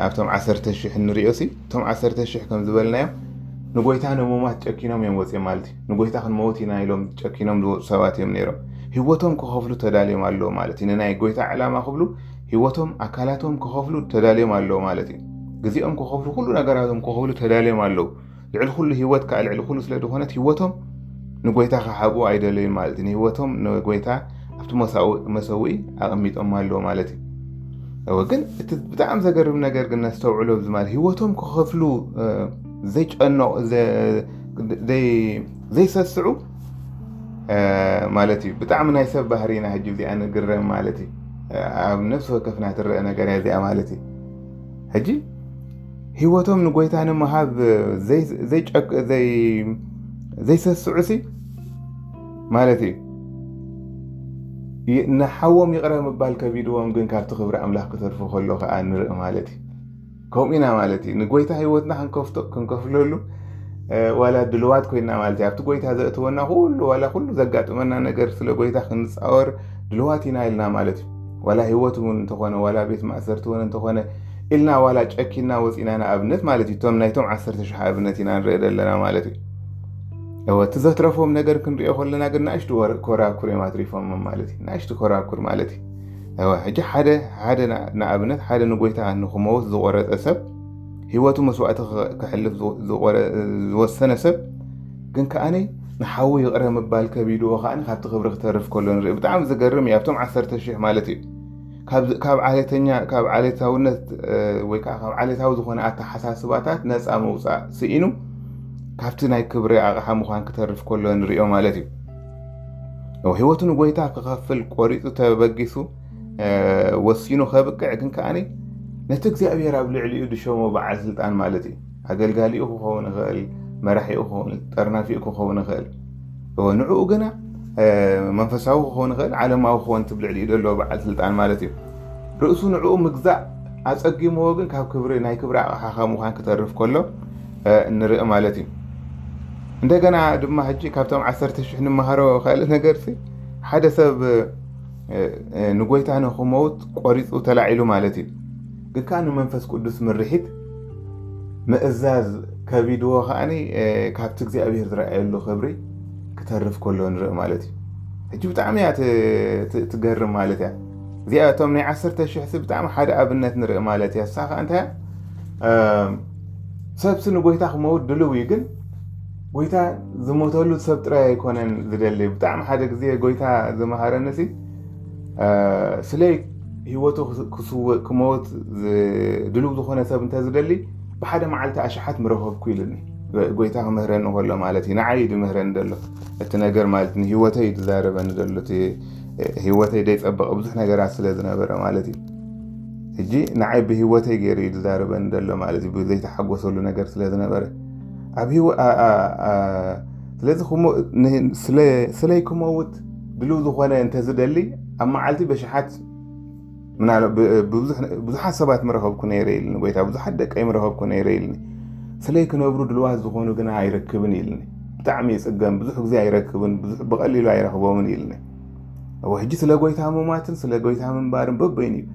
ኣብቶም ዓሰርተ ሽሕ እንሪኦ ሲ እቶም ዓሰርተ ሽሕ ከም ዝበልናዮም ንጎይታ ንምማት ጨኪኖም እዮም ወፅኦም ማለት እዩ። ንጎይታ ክንመውት ኢና ኢሎም ጨኪኖም ዝወፁ ሰባት እዮም ነይሮም። ህይወቶም ክኸፍሉ ተዳልዮም ኣለዉ ማለት እዩ። ንናይ ጎይታ ዕላማ ክብሉ ህይወቶም ኣካላቶም ክኸፍሉ ተዳልዮም ኣለዉ ማለት እዩ። ግዜኦም ክኸፍሉ ኩሉ ነገራቶም ክኸፍሉ ተዳልዮም ኣለዉ። ልዕሊ ኩሉ ህይወት ከዓ ልዕሊ ኩሉ ስለ ዝኾነት ህይወቶም ንጎይታ ክሃብኡ ኣይደለዩን ማለት እዩ። ንህይወቶም ንጎይታ ኣብቲ መሰውኢ ኣቐሚጦም ኣለዉ ማለት እዩ። እወ ግን እቲ ብጣዕሚ ዘገርም ነገር ግን ነስተውዕሎ ኣብዚ ማለት ህይወቶም ክኸፍሉ ዘይጨነቑ ዘይሰስዑ ማለት እዩ። ብጣዕሚ ናይ ሰብ ባህሪ ኢና ሕጂ እዚኣ ንግረም ማለት እዩ። ኣብ ነፍሲ ወከፍና ትረአ ነገር እያ እዚኣ ማለት እዩ። ሕጂ ህይወቶም ንጎይታ ንምሃብ ዘይሰስዑ ሲ ማለት እዩ። ንሓዎም ይቕረ ምባል ከቢድዎም ግን ካብቲ ክብሪ ኣምላኽ ክተርፉ ከሎ ከዓ ንርኢ ማለት እዩ። ከምኡ ኢና ማለት እዩ። ንጎይታ ህይወትና ክንከፍለሉ ዋላ ድልዋት ኮይና ማለት እዩ። ኣብቲ ጎይታ ዘእትወና ኩሉ ዋላ ኩሉ ዘጋጥመና ነገር ስለ ጎይታ ክንፃወር ድልዋት ኢና ኢልና ማለት እዩ። ዋላ ህይወት እውን እንተኾነ ዋላ ቤት ማእሰርቲ እውን እንተኾነ ኢልና ዋላ ጨኪና ወፂና ንኣብነት ማለት እዩ። እቶም ናይቶም ዓሰርተ ሽሕ ኣብነት ኢና ንርኢ ዘለና ማለት እዩ። እወ እቲ ዘትረፎም ነገር ክንሪኦ ከለና ግን ናእሽቱ ኮራኩር እዮም ኣትሪፎም ማለት እዩ። ናእሽቱ ኮራኩር ማለት እዩ። እወ ሕጂ ሓደ ሓደ ንኣብነት ሓደ ንጎይታ ንክመውት ዝቆረፀ ሰብ ህይወቱ መስዋእቲ ክሕልፍ ዝወሰነ ሰብ ግን ከዓኒ ንሓዉ ይቕረ ምባል ከቢድዎ ከዓኒ ካብቲ ክብሪ ክተርፍ ከሎ ንርኢ። ብጣዕሚ ዝገርም እዩ። ኣብቶም ዓሰርተ ሽሕ ማለት እዩ ካብ ዓሌተኛ ካብ ዓሌታውነት ወይ ከዓ ካብ ዓሌታዊ ዝኾነ ኣተሓሳስባታት ነፃ ምውፃእ ስኢኑ ካብቲ ናይ ክብሪ ኣቕሓ ምዃን ክተርፍ ከሎ ንሪኦ ማለት እዩ። ህይወቱ ንጎይታ ክኸፍል ቆሪፁ ተበጊሱ ወሲኑ ከብቅዕ ግን ከዓኒ ነቲ እግዚኣብሔር ኣብ ልዕሊኡ ዝሸሞ በዓል ስልጣን ማለት እዩ። ኣገልጋሊኡ ክኸውን ይኽእል፣ መራሒኡ ክኸውን፣ ጠርናፊኡ ክኸውን ይኽእል። ንዕኡ ግና መንፈሳዊ ክኸውን ይኽእል፣ ዓለማዊ ክኸውን፣ እቲ ብልዕሊኡ ዘሎ በዓል ስልጣን ማለት እዩ። ርእሱ ንዕኡ ምግዛእ ኣጸጊምዎ ግን ካብ ክብሪ፣ ናይ ክብሪ ኣቕሓ ካብ ምዃን ክተርፍ ከሎ ንርኢ ማለት እዩ። እንደገና ድማ ሕጂ ካብቶም ዓሰርተ ሽሕ ንመሃሮ ካልእ ነገርሲ፣ ሓደ ሰብ ንጎይታ ንክመውት ቆሪፁ ተላዒሉ ማለት እዩ። ግን ከዓ ንመንፈስ ቅዱስ ምርሒት ምእዛዝ ከቢድዎ ከዓኒ ካብቲ እግዚኣብሔር ዝረኣየሉ ክብሪ ክተርፍ ከሎ ንርኢ ማለት እዩ። ሕጂ ብጣዕሚ እያ ትገርም ማለት እያ። እዚኣ እቶም ናይ ዓሰርተ ሽሕ ሲ ብጣዕሚ ሓደ ኣብነት ንርኢ ማለት እያ። እሳ ከዓ እንታይ እያ? ሰብሲ ንጎይታ ክመውት ድልው እዩ፣ ግን ጎይታ ዝሞተሉ ሰብ ጥራይ ኣይኮነን ዝደሊ። ብጣዕሚ ሓደ ግዜ ጎይታ ዝመሃረኒ ሲ ስለይ ህይወቱ ክስውእ ክመውት ድልው ዝኾነ ሰብ እንተ ዝደሊ ብሓደ መዓልቲ ኣሽሓት ምረኸብኩ ኢልኒ። ጎይታ ክምህረኒ ከሎ ማለት እዩ። ንዓይ ድምህረኒ ደሎ እቲ ነገር ማለት ንህይወተይ ድዛረበኒ ደሎ፣ ህይወተይ ደይጸበቐ ብዙሕ ነገራት ስለ ዝነበረ ማለት እዩ። ሕጂ ንዓይ ብህይወተይ ገይሩ እዩ ዝዛረበኒ ዘሎ ማለት እዩ፣ ብዘይተሓጎሰሉ ነገር ስለ ዝነበረ። ኣብ ህይወ- ኣ- ኣ- ኣ- ስለዚ ክሞ- ን- ስለ- ስለይ ክመውት ድልው ዝኾነ እንተዝደሊ ኣብ መዓልቲ በሽሓት ምናል- ብ- ብዙሕ- ብዙሓት ሰባት ምረኸብኩ ነይረ ኢልኒ ጎይታ፣ ብዙሓት ደቀይ ምረኸብኩ ነይረ ኢልኒ። ስለይ ክነብሩ ድልዋት ዝኾኑ ግና ኣይረክብን ኢልኒ። ብጣዕሚ ይጽገም፣ ብዙሕ ግዜ ኣይረክብን፣ ብዙሕ ብቐሊሉ ኣይረኽቦምን ኢልኒ። እወ፣ ሕጂ ስለ ጎይታ ምማትን ስለ ጎይታ ምንባርን በበይኑ እዩ።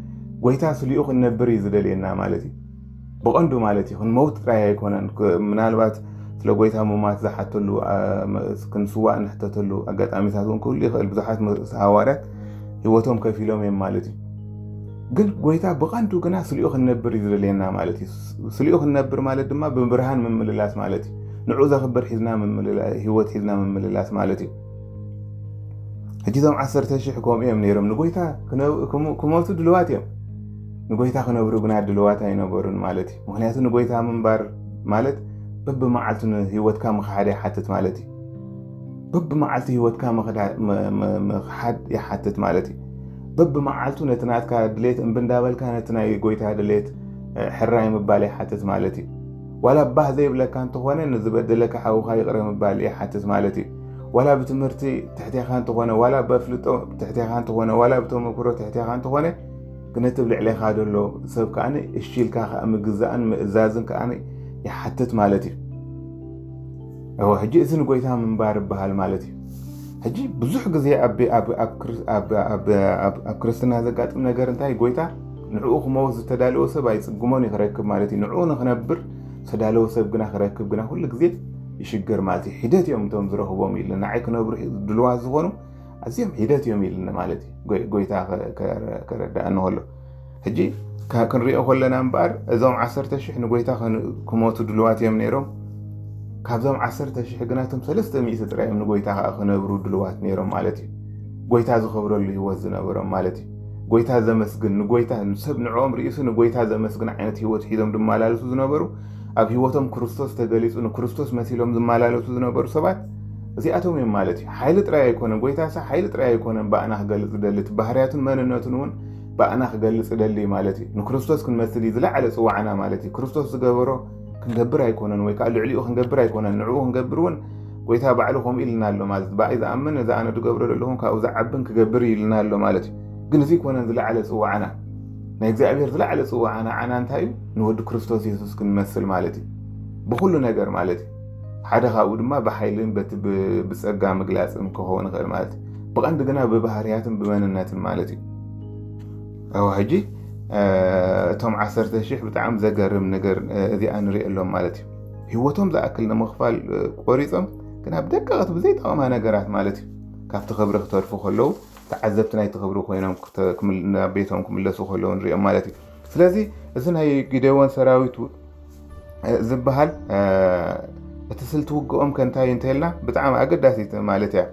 ጎይታ ስሊኡ ክንነብር እዩ ዝደልየና ማለት እዩ። ብቐንዱ ማለት እዩ፣ ክንመውት ጥራይ ኣይኮነን። ክ- ምናልባት ስለ ጎይታ ምማት ዝሓተሉ፣ ኣ፣ መ- ክንስዋእ ንሕተተሉ ኣጋጣሚታት እውን ክህሉ ይኽእል። ብዙሓት መ- ሃዋርያት ህይወቶም ከፊሎም እዮም ማለት እዩ። ግን ጎይታ ብቐንዱ ግና ስሊኡ ክንነብር እዩ ዝደልየና ማለት እዩ። ስ- ስሊኡ ክንነብር ማለት ድማ ብብርሃን ምምልላስ ማለት እዩ። ንዑ ዘኽብር ሒዝና ምምልላ- ህይወት ሒዝና ምምልላስ ማለት እዩ። ሕጂ እዞም ዓሰርተ ሽሕ ከምኡ እዮም ነይሮም። ንጎይታ ክነ- ክሞ- ክሞቱ ድልዋት እዮም። ንጎይታ ክነብሩ ግና ድልዋት ኣይነበሩን ማለት እዩ። ምክንያቱ ንጎይታ ምንባር ማለት በብመዓልቱ ንህይወትካ ምኽሓድ ይሓትት ማለት እዩ። በብመዓልቱ ህይወትካ ምኽዳ- ም- ም- ምኽሓድ ይሓትት ማለት እዩ። በብመዓልቱ ነቲ ናትካ ድሌት እምቢ እንዳበልካ ነቲ ናይ ጎይታ ድሌት ሕራይ ምባል ይሓትት ማለት እዩ። ዋላ ባህ ዘይብለካ እንተኾነ ንዝበደለካ ሓውኻ ይቕረ ምባል ይሓትት ማለት እዩ። ዋላ ብትምህርቲ ትሕቴኻ እንተኾነ፣ ዋላ በፍልጦ ትሕቴኻ እንተኾነ፣ ዋላ ብተመክሮ ትሕቴኻ እንተኾነ፣ ግን እቲ ብልዕሌኻ ዘሎ ሰብ ከዓኒ እሺ ኢልካ ከዓ ምግዛእን ምእዛዝን ከዓኒ ይሓትት ማለት እዩ። እወ፣ ሕጂ እዚ ንጎይታ ምንባር ይበሃል ማለት እዩ። ሕጂ ብዙሕ ግዜ ኣብ- ኣብ- ኣብ ክር- ኣብ- ኣብ- ኣብ- ኣብ ክርስትና ዘጋጥም ነገር እንታይ? ጎይታ ንዕኡ ክመውት ዝተዳለወ ሰብ ኣይጽግሞን እዩ ክረክብ ማለት እዩ። ንዕኡ ንክነብር ዝተዳለወ ሰብ ግና ክረክብ ግና ኩሉ ግዜ ይሽገር ማለት እዩ። ሒደት እዮም እቶም ዝረኽቦም ኢሉ ንዓይ ክነብሩ ድልዋት ዝኾኑ ኣዝዮም ሒደት እዮም ኢልኒ ማለት እዩ። ጎይ- ጎይታ ከ- ከረ- ከረዳእኒ ከሎ ሕጂ ካ- ክንሪኦ ከለና እምበኣር እዞም ዓሰርተ ሽሕ ንጎይታ ክን- ክሞቱ ድልዋት እዮም ነይሮም። ካብዞም ዓሰርተ ሽሕ ግና እቶም ሰለስተ ሚእቲ ጥራይ እዮም ንጎይታ ከዓ ክነብሩ ድልዋት ነይሮም ማለት እዩ። ጎይታ ዝኸብረሉ ህይወት ዝነበሮም ማለት እዩ። ጎይታ ዘመስግን ንጎይታ ሰብ ንዕኦም ርእሱ ንጎይታ ዘመስግን ዓይነት ህይወት ሒዞም ዝመላለሱ ዝነበሩ፣ ኣብ ህይወቶም ክርስቶስ ተገሊጹ ንክርስቶስ መሲሎም ዝመላለሱ ዝነበሩ ሰባት እዚኣቶም እዮም ማለት እዩ። ሓይሊ ጥራይ ኣይኮነን፣ ጎይታ ሳ ሓይሊ ጥራይ ኣይኮነን ብኣና ክገልጽ ደሊ፣ እቲ ባህርያቱን መንነቱን እውን ብኣና ክገልጽ ደሊ ማለት እዩ። ንክርስቶስ ክንመስል እዩ ዝለዓለ ጽዋዕና ማለት እዩ። ክርስቶስ ዝገበሮ ክንገብር ኣይኮነን፣ ወይ ከዓ ልዕሊኡ ክንገብር ኣይኮነን፣ ንዕኡ ክንገብር እውን ጎይታ ባዕሉ ከምኡ ኢልና ኣሎ ማለት እዩ። ብኣይ ዝኣምን እዚ ኣነ ዝገብሮ ዘለኹም ካብኡ ዝዓብን ክገብር እዩ ኢልና ኣሎ ማለት እዩ። ግን እዚ ኣይኮነን ዝለዓለ ጽዋዕና። ናይ እግዚኣብሔር ዝለዓለ ጽዋዕና ዓና እንታይ እዩ? ንወዲ ክርስቶስ የሱስ ክንመስል ማለት እዩ። ብኹሉ ነገር ማለት እዩ። ሓደ ካብኡ ድማ ብሓይልን በቲ ብ- ብጸጋ ምግላጽን ክኸውን ይኽእል ማለት እዩ። ብቐንዲ ግና ብባህርያትን ብመንነትን ማለት እዩ። እወ፣ ሕጂ እቶም ዓሰርተ ሽሕ ብጣዕሚ ዘገርም ነገር እዚኣ ንሪኦ ኣሎም ማለት እዩ። ህይወቶም ዝኣክል ንምኽፋል ቆሪጾም ግን ኣብ ደቀቕቲ ብዘይጠቕማ ነገራት ማለት እዩ ካብቲ ክብሪ ክተርፉ ከለዉ ተዓዘብቲ ናይቲ ክብሪ ኮይኖም ናብ ቤቶም ክምለሱ ከለዉ ንሪኦም ማለት እዩ። ስለዚ እዚ ናይ ጊደዎን ሰራዊት ዝበሃል እቲ ስልቲ ውግኦም ከንታይ እንተልና ብጣዕሚ ኣገዳሲት ማለት እያ።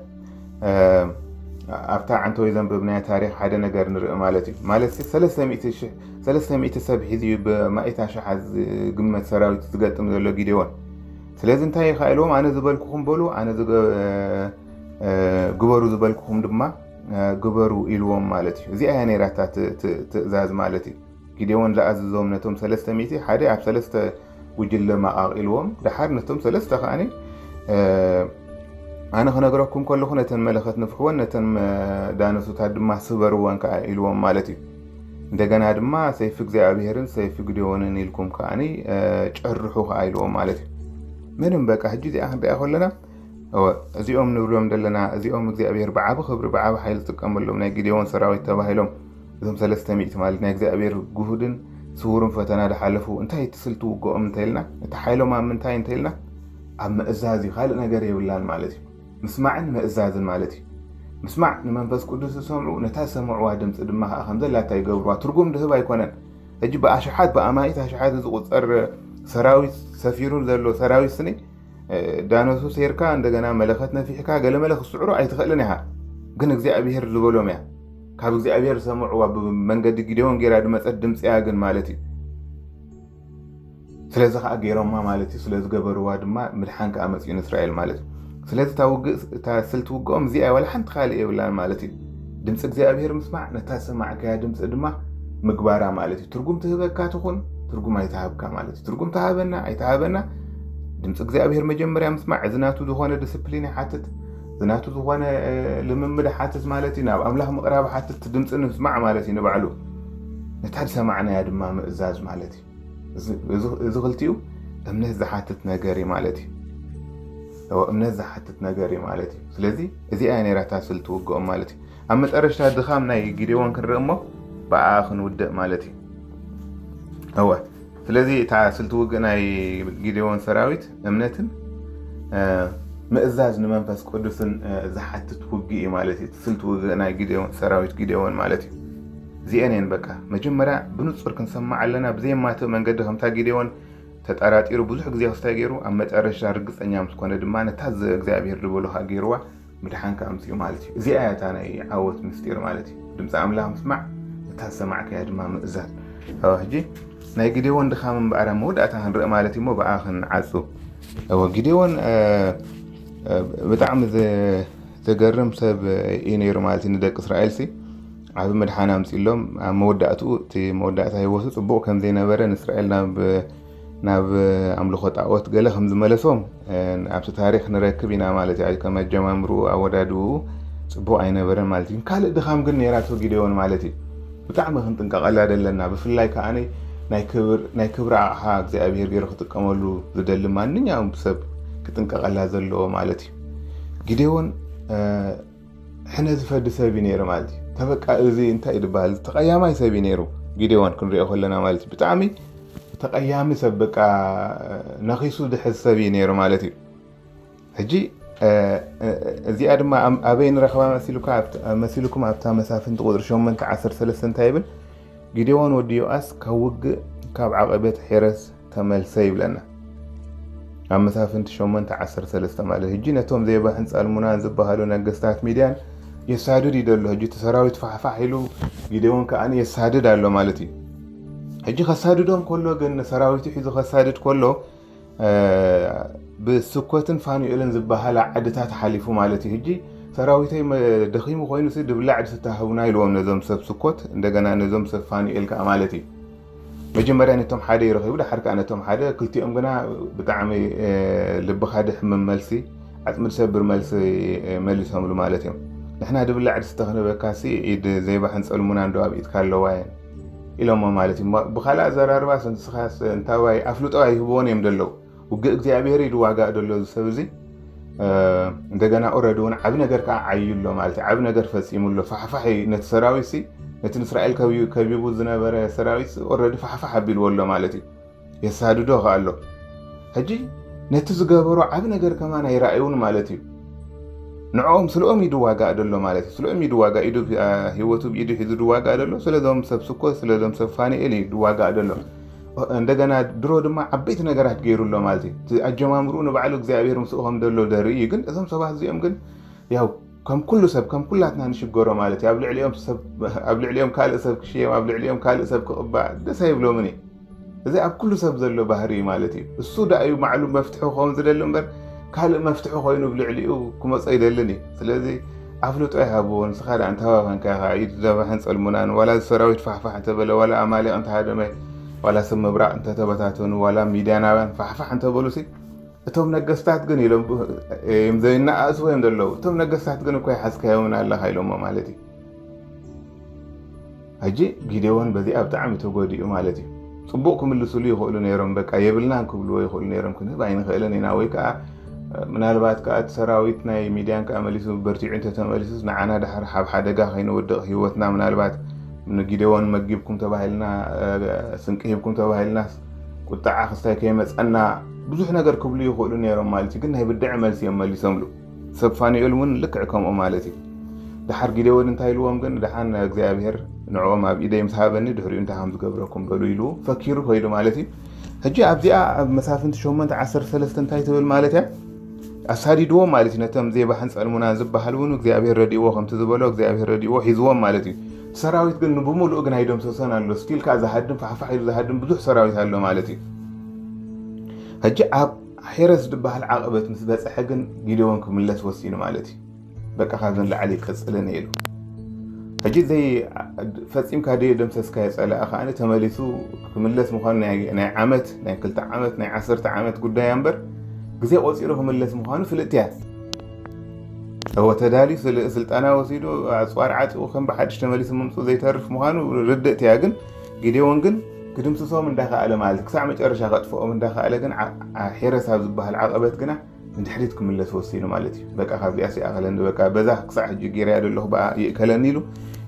ኣብታ ዓንተወይ ዘንብብናዮ ታሪኽ ሓደ ነገር ንርኢ ማለት እዩ። ማለት ሰለስተ ሚእቲ ሰብ ሒዙ እዩ ብማኢት ኣሽሓት ዝግመት ሰራዊት ዝገጥም ዘሎ ጊደዎን። ስለዚ እንታይ ኢኻ ኢልዎም፣ ኣነ ዝበልኩኹም በሉ፣ ኣነ ግበሩ ዝበልኩኹም ድማ ግበሩ ኢልዎም ማለት እዩ። እዚኣ እያ ነይራታ ትእዛዝ ማለት እዩ። ጊዴዎን ዝኣዘዞም ነቶም ሰለስተ ሚእቲ ሓደ ኣብ ሰለስተ ጉጅለ ማቓቕ ኢልዎም። ደሓር ነቶም ሰለስተ ከኣኒ ኣነ ክነግረኩም ከለኹ ነተን መለኸት ንፍሕወን ነተን ዳነሱታት ድማ ስበርወን ከኣ ኢልዎም ማለት እዩ። እንደገና ድማ ሰይፊ እግዚኣብሄርን ሰይፊ ግዴዎንን ኢልኩም ከኣኒ ጨርሑ ከኣ ኢልዎም ማለት እዩ። ምንም በቃ ሕጂ እዚኣ ክንሪኣ ከለና እዚኦም ንብሎም ዘለና እዚኦም እግዚኣብሄር ብዓቢ ክብሪ ብዓቢ ሓይሊ ዝጥቀመሎም ናይ ግዴዎን ሰራዊት ተባሂሎም እዞም ሰለስተ ሚእቲ ማለት ናይ እግዚኣብሔር ግሁድን ስውርን ፈተና ድሓለፉ እንታይ ትስልቲ ውግኦም እንተኢልና እቲ ሓይሎም ኣብ ምንታይ እንተኢልና ኣብ ምእዛዝ እዩ። ካልእ ነገር የብላን ማለት እዩ። ምስማዕን ምእዛዝን ማለት እዩ። ምስማዕ ንመንፈስ ቅዱስ ዝሰምዑ ነታ ዝሰምዕዋ ድምፂ ድማ ከዓ ከም ዘላታ ይገብርዋ። ትርጉም ድህብ ኣይኮነን። ሕጂ ብኣሽሓት ብኣማኢት ኣሽሓት ዝቁፀር ሰራዊት ሰፊሩ ዘሎ ሰራዊት ስኒ ዳኖሱ ሴርካ እንደገና መለኸት ነፊሕካ ገለመለ ክስዕሩ ኣይትኽእልን ኢኻ። ግን እግዚኣብሄር ዝበሎም እያ። ካብ እግዚኣብሄር ዝሰምዕዋ ብመንገዲ ጊዴዎን ጌራ ድመፀት ድምፂ እያ ግን ማለት እዩ። ስለዚ ከዓ ገይሮማ ማለት እዩ። ስለዝገበርዋ ድማ ምድሓን ከዓ መፅኡ ንእስራኤል ማለት እዩ። ስለዚ እታ ውግእ እታ ስልቲ ውግኦም እዚኣ ዋላ ሓንቲ ካልእ የብላን ማለት እዩ። ድምፂ እግዚኣብሄር ምስማዕ ነታ ዝሰማዕካያ ድምፂ ድማ ምግባራ ማለት እዩ። ትርጉም ትህበካ ትኹን ትርጉም ኣይትሃብካ ማለት እዩ። ትርጉም ትሃበና ኣይትሃበና ድምፂ እግዚኣብሄር መጀመርያ ምስማዕ እዚ ናቱ ዝኾነ ዲስፕሊን ይሓትት፣ እዚ ናቱ ዝኾነ ልምምድ ሓትት ማለት እዩ። ናብ ኣምላኽ ምቕራብ ሓትት ድምፂ ንምስማዕ ማለት እዩ ንባዕሉ። ነታ ዝሰማዕናያ ድማ ምእዛዝ ማለት እዩ። እዚ ክልቲኡ እምነት ዝሓትት ነገር እዩ ማለት እዩ። እምነት ዝሓትት ነገር እዩ ማለት እዩ። ስለዚ እዚኣ ነራታ ስልቲ ውግኦም ማለት እዩ። ኣብ መጨረሽታ ድኻም ናይ ጊዴዎን ክንርኢ እሞ ብኣ ክንውድእ ማለት እዩ። እወ ስለዚ እታ ስልቲ ውግእ ናይ ጊዴዎን ሰራዊት እምነትን ምእዛዝ ንመንፈስ ቅዱስን ዝሓትት ውግእ እዩ ማለት እዩ። ስልቲ ውግእ ናይ ጊዴዎን ሰራዊት ጊዴዎን ማለት እዩ። እዚአን እየን በቃ መጀመርያ ብንጹር ክንሰማዕ ኣለና። ብዘየማትእ መንገዲ ከምታ ጊዴዎን ተጠራጢሩ ብዙሕ ግዜ ክስታይ ገይሩ ኣብ መጨረሽታ ርግጸኛ ምስ ኮነ ድማ ነታ እግዚኣብሔር ዝበሎ ከዓ ገይርዋ ምድሓን ከዓ ኣምፅኡ ማለት እዩ። እዚኣ እያ እታ ናይ ዓወት ምስጢር ማለት እዩ። ድምፂ ኣምላኽ ምስማዕ እታ ዝሰማዕካያ ድማ ምእዛዝ። ሕጂ ናይ ግዴዎን ድኻም እምበኣር ኣብ መወዳእታ ክንርኢ ማለት እዩ። እሞ ብኣ ክንዓፁ። እወ ግዴዎን ብጣዕሚ ዘገርም ሰብ እዩ ነይሩ ማለት እዩ። ንደቂ እስራኤል ሲ ዓብ ምድሓን ኣምጺሎም ኣብ መወዳእትኡ እቲ መወዳእታ ህይወቱ ጽቡቕ ከም ዘይነበረ ንእስራኤል ናብ ናብ ኣምልኾ ጣዖት ገለ ከም ዝመለሶም ኣብቲ ታሪኽ ንረክብ ኢና ማለት እዩ። ከም ኣጀማምርኡ ኣወዳድኡ ጽቡቕ ኣይነበረን ማለት እዩ። ካልእ ድኻም ግን ነይራቶ ጊዴዎን ማለት እዩ። ብጣዕሚ ክንጥንቀቐላ ደለና። ብፍላይ ከኣ ናይ ክብሪ ኣቕሓ እግዚኣብሄር ገይሩ ክጥቀመሉ ዝደሊ ማንኛውም ሰብ ክጥንቀቐላ ዘለዎ ማለት እዩ። ጊዴዎን ሕነ ዝፈዲ ሰብ እዩ ነይሩ ማለት እዩ። ተበቃ እዚ እንታይ እዩ ዝበሃል ተቐያማይ ሰብ እዩ ነይሩ ጊዴዎን ክንሪኦ ከለና ማለት እዩ። ብጣዕሚ ተቐያሚ ሰብ በቃ ነኺሱ ዝሕዝ ሰብ እዩ ነይሩ ማለት እዩ። ሕጂ እዚኣ ድማ ኣበይ ንረኽባ መሲልኩም ኣብታ መሳፍንቲ ቁፅሪ ሸሞንተ ዓሰርተ ሰለስተ እንታይ ይብል? ጊዴዎን ወዲ ዮኣስ ካብ ውግእ ካብ ዓቐበት ሔረስ ተመልሰ ይብለና። ኣብ መሳፍንቲ ሸሞንተ ዓሰርተ ሰለስተ ማለት ሕጂ ነቶም ዜባሕን ጸልሙናን ዝበሃሉ ነገስታት ሚድያን የሳድድ እዩ ዘሎ። ሕጂ እቲ ሰራዊት ፋሕፋሕ ኢሉ ጊዴዎን ከኣ የሳድድ ኣሎ ማለት እዩ። ሕጂ ከሳድዶም ከሎ ግን ሰራዊቱ ሒዙ ከሳድድ ከሎ ብስኮትን ፋኑኤልን ዝበሃላ ዓድታት ሓሊፉ ማለት እዩ። ሕጂ ሰራዊተይ ደኺሙ ኮይኑ ድብላዕ ድስተ ሃቡና ኢልዎም ነዞም ሰብ ስኮት እንደገና ነዞም ሰብ ፋኑኤል ከኣ ማለት እዩ። መጀመርያ ነቶም ሓደ ይረኺቡ፣ ድሓር ከኣ ነቶም ሓደ፣ ክልቲኦም ግና ብጣዕሚ ልብኻ ድሕምም መልሲ፣ ዓጽሚ ድሰብር መልሲ መሊሶምሉ ማለት እዮም። ንሕና ድብላዕ ድስተ ክንበካሲ ኢድ ዘይባሕን ጸልሙና እንዶ ኣብ ኢድካ ኣለዋ እየን ኢሎሞ ማለት እዩ። ብኻልእ ኣዘራርባስ ንስኻስ እንታዋይ ኣፍልጦ ኣይህብዎን እዮም ደለዉ። ውግእ እግዚኣብሔር እዩ ድዋጋእ ደሎ እዚ ሰብ እዚ። እንደገና ኦረዲ እውን ዓብ ነገር ከዓ ዓዩ ኣሎ ማለት እዩ። ዓብ ነገር ፈጺሙ ኣሎ። ፋሕፋሕ እዩ ነቲ ሰራዊት ሲ ነቲ ንእስራኤል ከቢቡ ዝነበረ ሰራዊት ኦረዲ ፋሕፋሕ ኣቢልዎ ኣሎ ማለት እዩ። የሳድዶ ከኣ ኣሎ። ሕጂ ነቲ ዝገበሮ ዓብ ነገር ከማን ኣይረኣዩን ማለት እዩ። ንዕኦም ስለኦም እዩ ድዋጋእ ደሎ ማለት እዩ። ስለኦም እዩ ድዋጋእ ኢዱ ህይወቱ ብኢዱ ሒዙ ድዋጋእ ደሎ ስለዞም ሰብ ስኮ ስለዞም ሰብ ፋኒኤል እዩ ድዋጋእ ደሎ። እንደገና ድሮ ድማ ዓበይቲ ነገራት ገይሩ ኣሎ ማለት እዩ። እቲ ኣጀማምርኡ ንባዕሉ እግዚኣብሔር ምስኡ ከም ዘሎ ደርኢ እዩ። ግን እዞም ሰባት እዚኦም ግን ያው ከም ኩሉ ሰብ ከም ኩላትና ንሽገሮ ማለት እዩ። ኣብ ልዕሊኦም ሰብ ኣብ ልዕሊኦም ካልእ ሰብ ክሽየም ኣብ ልዕሊኦም ካልእ ሰብ ክቕባእ ደስ ኣይብሎምን እዩ። እዚ ኣብ ኩሉ ሰብ ዘሎ ባህሪ እዩ ማለት እዩ። እሱ ደኣ እዩ ባዕሉ መፍትሒ ክኸውን ዝደሊ እምበር ካልእ መፍትሒ ኮይኑ ኣብ ልዕሊኡ ክመጾ ይደልን እዩ። ስለዚ ኣፍልጦ ይሃብዎ። ንስኻ ደኣ እንተሃባኸንካ ኢኻ ኢድ ዘባሕን ጸልሙናን ዋላ ሰራዊት ፋሕፋሕ እንተበለ ዋላ ኣማሌቕ እንተሃደመ ዋላ ሰብ ምብራቕ እንተተበታተኑ፣ ዋላ ሚድያናውያን ፋሕፋሕ እንተበሉሲ፣ እቶም ነገስታት ግን ኢሎም፣ እዮም ዘይነኣእስዎ እዮም ዘለዉ። እቶም ነገስታት ግን እኮ ይሓዝካዮምን ኣለኻ ኢሎሞ ማለት እዩ። ሕጂ ጊዴዎን በዚኣ ብጣዕሚ ተጎዲኡ ማለት እዩ። ጽቡቕ ክምልስሉ ይኽእሉ ነይሮም፣ በቃ የብልናን ክብልዎ ይኽእሉ ነይሮም፣ ክንህብ ኣይንኽእልን ኢና፣ ወይ ከዓ ምናልባት ከዓ እቲ ሰራዊት ናይ ሚድያን ከዓ መሊሱ በርቲዑ እንተተመሊሱስ ንዓና ድሓር ሓብ ሓደጋ ከይንወድቕ ህይወትና ምናልባት ንጊዴዎን መጊብኩም ተባሂልና፣ ስንቂ ሂብኩም ተባሂልናስ ቁጣዓ ክስታይ ከይመፀና ብዙሕ ነገር ክብሉ ይኽእሉ ነይሮም ማለት እዩ። ግን ናይ ብድዐ መልሲ እዮም መሊሶምሉ። ሰብ ፋኑኤል እውን ልክዕ ከምኡ ማለት እዩ። ድሓር ጊዴዎን እንታይ ኢልዎም ግን፣ ድሓን እግዚኣብሔር ንዕኦም ኣብ ኢደይ ምስ ሃበኒ ድሕሪኡ እንታይ ከም ዝገብረኩም በሉ ኢሉ ፈኪሩ ከይዱ ማለት እዩ። ሕጂ ኣብዚኣ ኣብ መሳፍንቲ ሸሞንተ ዓሰርተ ሰለስተ እንታይ ትብል ማለት እያ? ኣሳዲድዎም ማለት እዩ። ነቶም ዜባሕን ጸልሙናን ዝበሃል እውን እግዚኣብሔር ረድእዎ፣ ከምቲ ዝበሎ እግዚኣብሔር ረድእዎ ሒዝዎም ማለት እዩ። ሰራዊት ግን ብሙሉእ ግን ኣይደምሰሶን ኣሎ። ስቲል ከኣ ዝሃድም ፋሕፋሕ ኢሉ ዝሃድም ብዙሕ ሰራዊት ኣሎ ማለት እዩ። ሕጂ ኣብ ሄረስ ዝበሃል ዓቐበት ምስ በጽሐ ግን ጊዴዎን ክምለስ ወሲኑ ማለት እዩ። በቃ ካብዚ ንላዕሊ ይቅጽልን ኢሉ። ሕጂ ዘይ ፈጺምካ ደይ ደምሰስካዮ ጸላኢ ከኣ ተመሊሱ ክምለስ ምዃኑ ናይ ናይ ዓመት ናይ ክልተ ዓመት ናይ ዓሰርተ ዓመት ጉዳይ እምበር ግዜ ቆጺሩ ክምለስ ምዃኑ ፍልጥቲ እያ። እወ ተዳልዩ ስል- ስልጠና ወሲዱ ኣጽዋር ዓጺቑ ከም ብሓድሽ ተመሊሱ ምምጽኡ ዘይተርፍ ምዃኑ ርድእቲ እያ። ግን ጊዴዎን ግን ክድምስሶም እንዳኸኣለ ማለት ክሳዕ መጨረሻ ከጥፍኦም እንዳኸኣለ ግን ዓ- ዓ- ሄረስ ኣብ ዝበሃል ዓቐበት ግና ንድሕሪት ክምለስ ወሲኑ ማለት እዩ። በቃ ካብዚኣ ሲኣኸለኒ በቃ በዛ ክሳዕ ሕጂ ገይረያ ዘለኹ ብኣ ይእከለኒ ኢሉ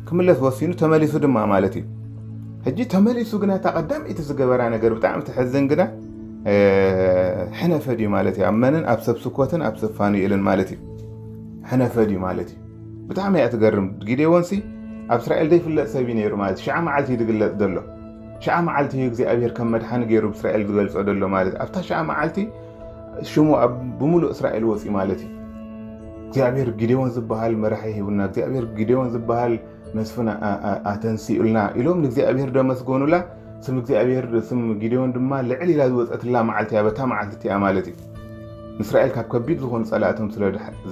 ክምለስ ወሲኑ ተመሊሱ ድማ ማለት እዩ። ሕጂ ተመሊሱ ግና እታ ቀዳመይቲ ዝገበራ ነገር ብጣዕሚ ትሕዝን ግና ሕነ ፈድዩ ማለት እዩ። ኣብ መንን ኣብ ሰብ ስኮትን ኣብ ሰብ ፋኑኤልን ማለት እዩ። ሕነ ፈድዩ ማለት እዩ። ብጣዕሚ እያ ትገርም። ጊዴዎንሲ ኣብ እስራኤል ዘይፍለጥ ሰብ እዩ ነይሩ ማለት እዩ። ሽዓ መዓልቲ እዩ ዝግለጽ ዘሎ። ሽዓ መዓልቲ እዩ እግዚኣብሔር ከም መድሓኒ ገይሩ ብእስራኤል ዝገልጾ ዘሎ ማለት እዩ። ኣብታ ሽዓ መዓልቲ ሽሙ ኣብ ብምሉእ እስራኤል ወፂ ማለት እዩ። እግዚኣብሔር ጊዴዎን ዝበሃል መራሒ ሂቡና፣ እግዚኣብሔር ጊዴዎን ዝበሃል መስፍን ኣተንሲኡልና ኢሎም ንእግዚኣብሔር ደመስገኑላ። ስም እግዚኣብሔር ስም ጊዴዎን ድማ ልዕል ኢላ ዝወፀትላ መዓልቲ እያ፣ በታ መዓልቲ እቲኣ ማለት እዩ። ንእስራኤል ካብ ከቢድ ዝኾኑ ፀላእቶም ስለ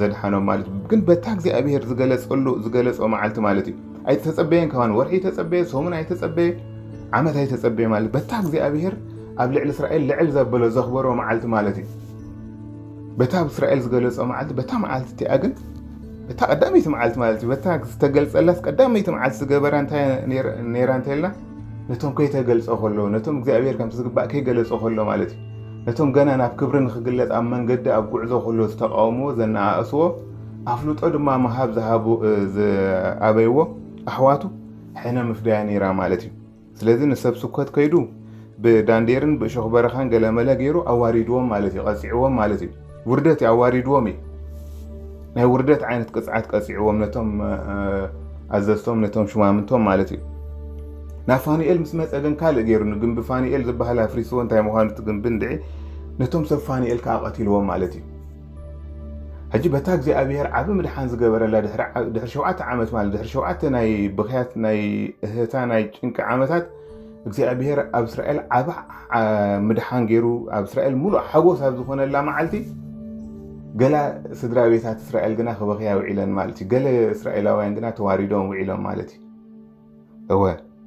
ዘድሓኖም ማለት እዩ። ግን በታ እግዚኣብሔር ዝገለፀሉ ዝገለፆ መዓልቲ ማለት እዩ። ኣይተፀበየን፣ ከማን ወርሒ ተፀበየ፣ ሰሙን ኣይተፀበየ፣ ዓመት ኣይተፀበየ ማለት በታ እግዚኣብሔር ኣብ ልዕሊ እስራኤል ልዕል ዘበሎ ዘኽበሮ መዓልቲ ማለት እዩ። በታ ኣብ እስራኤል ዝገለጾ መዓልቲ በታ መዓልቲ እቲኣ ግን በታ ቀዳመይቲ መዓልቲ ማለት እዩ። በታ ዝተገልጸላስ ቀዳመይቲ መዓልቲ ዝገበራ እንታይ ነይራ እንተልና ነቶም ከይተገልጸ ከሎ ነቶም እግዚኣብሔር ከምቲ ዝግባእ ከይገለጾ ከሎ ማለት እዩ። ነቶም ገና ናብ ክብሪ ንክግለጽ ኣብ መንገዲ ኣብ ጉዕዞ ከሎ ዝተቃወምዎ ዘነኣእስዎ ኣፍልጦ ድማ ምሃብ ዝሃቡ ዝኣበይዎ ኣሕዋቱ ሕነ ምፍዳያ ነይራ ማለት እዩ። ስለዚ ንሰብ ስኮት ከይዱ ብዳንዴርን ብእሾኽ በረኻን ገለመለ ገይሩ ኣዋሪድዎም ማለት እዩ፣ ቀፂዕዎም ማለት እዩ። ውርደት እዩ ኣዋሪድዎም እዩ። ናይ ውርደት ዓይነት ቅፅዓት ቀፂዕዎም ነቶም ኣዘዝቶም ነቶም ሽማምንቶም ማለት እዩ። ናብ ፋኑኤል ምስ መፀ ግን ካልእ ገይሩ ንግንቢ ፋኑኤል ዝበሃል ኣፍሪስዎ እንታይ ምዃኑ እቲ ግንቢ እንድዒ ነቶም ሰብ ፋኑኤል ከዓ ቀቲልዎም ማለት እዩ። ሕጂ በታ እግዚኣብሔር ዓቢ ምድሓን ዝገበረላ ድሕሪ ሸውዓተ ዓመት ማለት ድሕሪ ሸውዓተ ናይ ብኽያት ናይ እህታ ናይ ጭንቂ ዓመታት እግዚኣብሔር ኣብ እስራኤል ዓቢ ምድሓን ገይሩ ኣብ እስራኤል ሙሉእ ሓጎስ ኣብ ዝኾነላ መዓልቲ ገላ ስድራ ቤታት እስራኤል ግና ክበኽያ ውዒለን ማለት እዩ። ገለ እስራኤላውያን ግና ተዋሪዶም ውዒሎም ማለት እዩ። እወ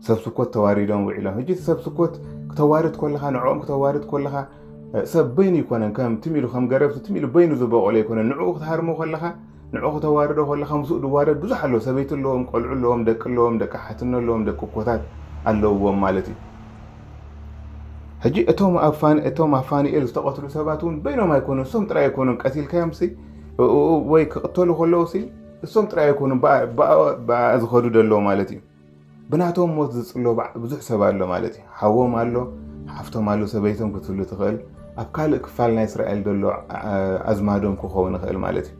ሰብ ስኮት ተዋሪዶም ውዒሎም። ሕጂ ሰብ ስኮት ክተዋርድ ከለኻ ንዕኦም ክተዋርድ ከለኻ ሰብ በይኑ ይኮነን ከም ትም ኢሉ ከም ገረብ ትም ኢሉ በይኑ ዝበቆለ ይኮነን። ንዕኡ ክትሃርሞ ከለኻ ንዕኡ ክተዋርዶ ከለኻ ምስኡ ዝዋረድ ብዙሕ ኣለዎ። ሰበይቲ ኣለዎም፣ ቆልዑ ኣለዎም፣ ደቂ ኣለዎም፣ ደቂ ሓትኖ ኣለዎም፣ ደቂ ኮታት ኣለውዎም ማለት እዩ። ሕጂ እቶም ኣብ ፋን- እቶም ኣብ ፋኑኤል ዝተቐትሉ ሰባት እውን በይኖም ኣይኮኑን፣ እሶም ጥራይ ኣይኮኑን ቀቲልካዮም ሲ ወይ ክቕተሉ ከለዉ ሲ እሶም ጥራይ ኣይኮኑን፣ ብኣ- ብኣ ብኣ ዝኸዱ ደለዉ ማለት እዩ። ብናቶም ሞት ዝጽሎ ባዕ- ብዙሕ ሰብ ኣሎ ማለት እዩ። ሓዎም ኣሎ፣ ሓፍቶም ኣሎ፣ ሰበይቶም ክትህሉ ትኽእል። ኣብ ካልእ ክፋል ናይ እስራኤል ዘሎ ኣ- ኣዝማዶም ክኸውን ይኽእል ማለት እዩ።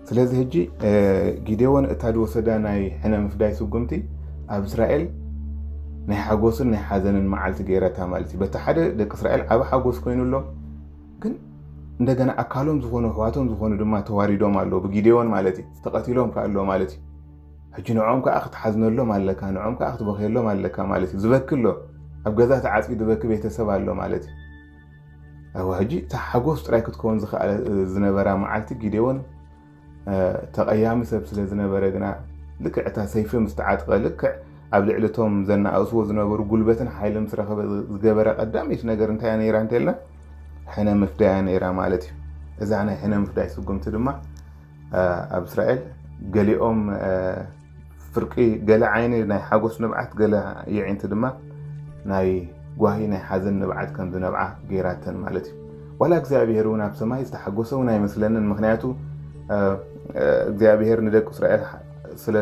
ስለዚ ሕጂ እ፣ ጊዴዎን እታ ዝወሰዳ ናይ ሕነ ምፍዳይ ስጉምቲ ኣብ እስራኤል ናይ ሓጎስን ናይ ሓዘንን መዓልቲ ገይረታ ማለት እዩ። በቲ ሓደ ደቂ እስራኤል ዓቢ ሓጎስ ኮይኑሎም ግን እንደገና ኣካሎም ዝኾኑ ኣሕዋቶም ዝኾኑ ድማ ተዋሪዶም ኣለዉ ብጊዴዎን ማለት እዩ። ተቐቲሎም ከኣ ኣለዉ ማለት እዩ። ሕጂ ንዕኦም ከኣ ክትሓዝነሎም ኣለካ፣ ንዕኦም ከኣ ክትበኽየሎም ኣለካ ማለት እዩ። ዝበኪ ኣሎ፣ ኣብ ገዛ ተዓጽዩ ዝበኪ ቤተሰብ ኣሎ ማለት እዩ። እወ ሕጂ እታ ሓጎስ ጥራይ ክትከውን ዝኸኣለ ዝነበራ መዓልቲ ጊዴዎን ተቐያሚ ሰብ ስለ ዝነበረ ግና ልክዕ እታ ሰይፊ ምስ ተዓጥቀ ልክዕ ኣብ ልዕሊ እቶም ዘናኣእስዎ ዝነበሩ ጉልበትን ሓይልን ምስ ረኸበ ዝገበረ ቀዳመይቲ ነገር እንታይ እያ ነይራ እንተልና፣ ሕነ ምፍዳያ ነይራ ማለት እዩ። እዛ ናይ ሕነ ምፍዳይ ስጉምቲ ድማ ኣብ እስራኤል ገሊኦም ፍርቂ፣ ገለ ዓይኒ ናይ ሓጎስ ንብዓት፣ ገለ የዒንቲ ድማ ናይ ጓሂ ናይ ሓዘን ንብዓት ከም ዝነብዓ ገይራተን ማለት እዩ። ዋላ እግዚኣብሔር እውን ኣብ ሰማይ ዝተሓጎሰ እውን ኣይመስለንን። ምክንያቱ እግዚኣብሔር ንደቂ እስራኤል ስለ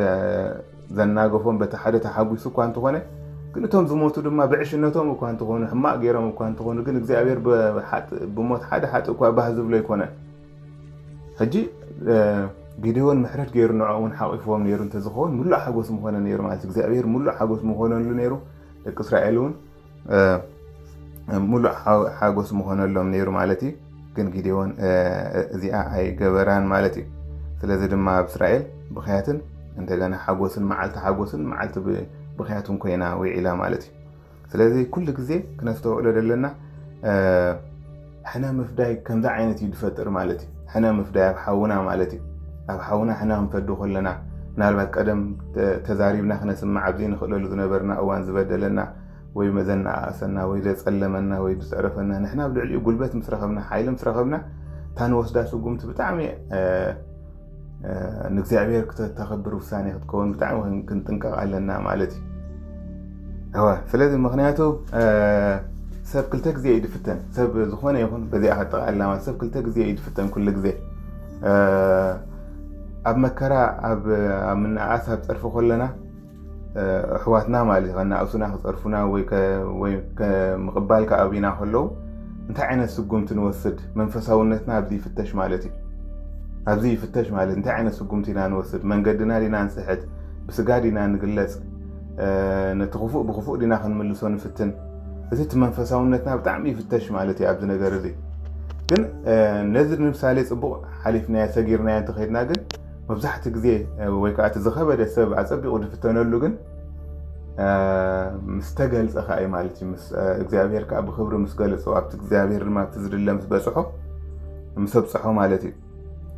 ዘናገፎም በቲ ሓደ ተሓጒሱ እኳ እንተኾነ፣ ግን እቶም ዝሞቱ ድማ ብዕሽነቶም እኳ እንተኾኑ፣ ሕማቕ ገይሮም እኳ እንተኾኑ፣ ግን እግዚኣብሔር ብሞት ሓደ ሓጢእ እኳ ባህ ዝብሎ ኣይኮነን። ሕጂ ጊዴዎን ምሕረት ገይሩ ንዕኦም እውን ሓቂፍዎም ነይሩ እንተዝኸውን፣ ሙሉእ ሓጎስ ምኾነ ነይሩ ማለት እዩ። እግዚኣብሔር ሙሉእ ሓጎስ ምኾነሉ ነይሩ። ደቂ እስራኤል እውን ሙሉእ ሓጎስ ምኾነሎም ነይሩ ማለት እዩ። ግን ጊዴዎን እዚኣ ኣይገበራን ማለት እዩ። ስለዚ ድማ ኣብ እስራኤል ብኽያትን እንደገና ሓጎስን፣ መዓልቲ ሓጎስን መዓልቲ ብኽያትን ኮይና ውዒላ ማለት እዩ። ስለዚ ኩሉ ግዜ ክነስተውዕሎ ዘለና ሕነ ምፍዳይ ከምዚ ዓይነት እዩ ዝፈጥር ማለት እዩ። ሕነ ምፍዳይ ኣብ ሓውና ማለት እዩ። ኣብ ሓውና ሕነ ክንፈዱ ከለና፣ ምናልባት ቀደም ተዛሪብና ክነስምዕ ኣብ ዘይንኽእለሉ ዝነበርና እዋን ዝበደለና ወይ መዘናኣእሰና ወይ ዘጸለመና ወይ ዝጸረፈና፣ ንሕና ኣብ ልዕሊኡ ጉልበት ምስ ረኸብና፣ ሓይሊ ምስ ረኸብና፣ እታ ንወስዳ ስጉምቲ ብጣዕሚ ንእግዚኣብሔር ክተተኸብር ውሳኔ ክትከውን ብጣዕሚ ክንጥንቀቕ ኣለና ማለት እዩ። እወ፣ ስለዚ ምክንያቱ ሰብ ክልተ ግዜ እዩ ድፍተን። ሰብ ዝኾነ ይኹን በዚኣ ከጠቓልላ ማለት ሰብ ክልተ ግዜ እዩ ድፍተን። ኩሉ ግዜ ኣብ መከራ፣ ኣብ ምንኣስ፣ ኣብ ጸርፊ ከለና ኣሕዋትና ማለት እዩ ከናእሱና፣ ክጸርፉና ወይ ምቕባል ከኣብዩና ከለዉ እንታይ ዓይነት ስጉምቲ ንወስድ? መንፈሳውነትና ኣብዚ ይፍተሽ ማለት እዩ። ኣብዚ ይፍተሽ ማለት እንታይ ዓይነት ስጉምቲ ኢና ንወስድ? መንገድና ዲና ንስሕት? ብስጋ ዲና ንግለጽ? ነቲ ክፉእ ብክፉእ ዲና ክንምልሶ ንፍትን? እዚ እቲ መንፈሳውነትና ብጣዕሚ ይፍተሽ ማለት እዩ ኣብዚ ነገር እዚ። ግን ነዚ ንምሳሌ ጽቡቕ ሓሊፍናዮ ሰጊርናዮ እንተኸይድና ግን መብዛሕቲ ግዜ ወይ ከዓ እቲ ዝኸበደ ሰብ ኣጸቢቑ ዝፍተነሉ ግን ምስ ተገልጸ ከዓ እዩ ማለት እዩ። ምስ እግዚኣብሔር ከዓ ብክብሪ ምስ ገለጾ፣ ኣብቲ እግዚኣብሔር ድማ ኣብቲ ዝድለ ምስ በጽሖ፣ ምስ ኣብጽሖ ማለት እዩ።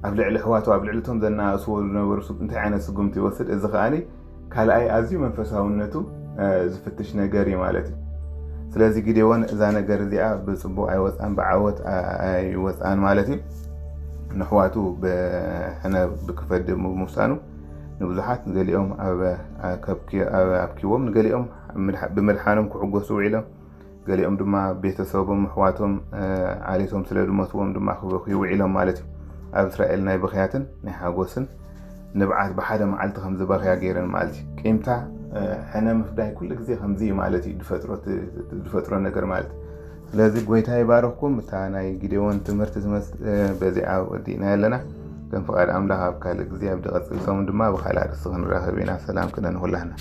ኣብ ልዕሊ ኣሕዋቱ፣ ኣብ ልዕሊ እቶም ዘናእስዎ ዝነበሩ እንታይ ዓይነት ስጉምቲ ይወስድ? እዚ ከዓ ካልኣይ ኣዝዩ መንፈሳውነቱ ዝፍትሽ ነገር እዩ ማለት እዩ። ስለዚ ጊዴዎን እዛ ነገር እዚኣ ብጽቡቕ ኣይወጻን፣ ብዓወት ኣይወጻን ማለት እዩ። ንኣሕዋቱ ብሕነ ብክፈድ ምውሳኑ ንብዙሓት፣ ንገሊኦም ኣብኪዎም፣ ንገሊኦም ብምድሓኖም ክዕጎሱ ውዒሎም፣ ገሊኦም ድማ ቤተሰቦም ኣሕዋቶም ዓሌቶም ስለ ዝሞትዎም ድማ ክበኽዩ ውዒሎም ማለት እዩ። ኣብ እስራኤል ናይ ብኽያትን ናይ ሓጎስን ንብዓት ብሓደ መዓልቲ ከም ዝበኽያ ገይረን ማለት እዩ። ቂምታ ሕነ ምፍዳይ ኩሉ ግዜ ከምዚ እዩ ማለት እዩ ዝፈጥሮ ነገር ማለት እዩ። ስለዚ ጎይታ ይባረኽኩም። እታ ናይ ጊዴዎን ትምህርቲ ትመስል በዚኣ ወዲእና ኣለና። ከም ፍቓድ ኣምላኽ ኣብ ካልእ ግዜ ኣብ ዝቐጽል ሰሙን ድማ ብኻልእ ኣርእስቲ ክንራኸብ ኢና። ሰላም ክነ ንኹላህና።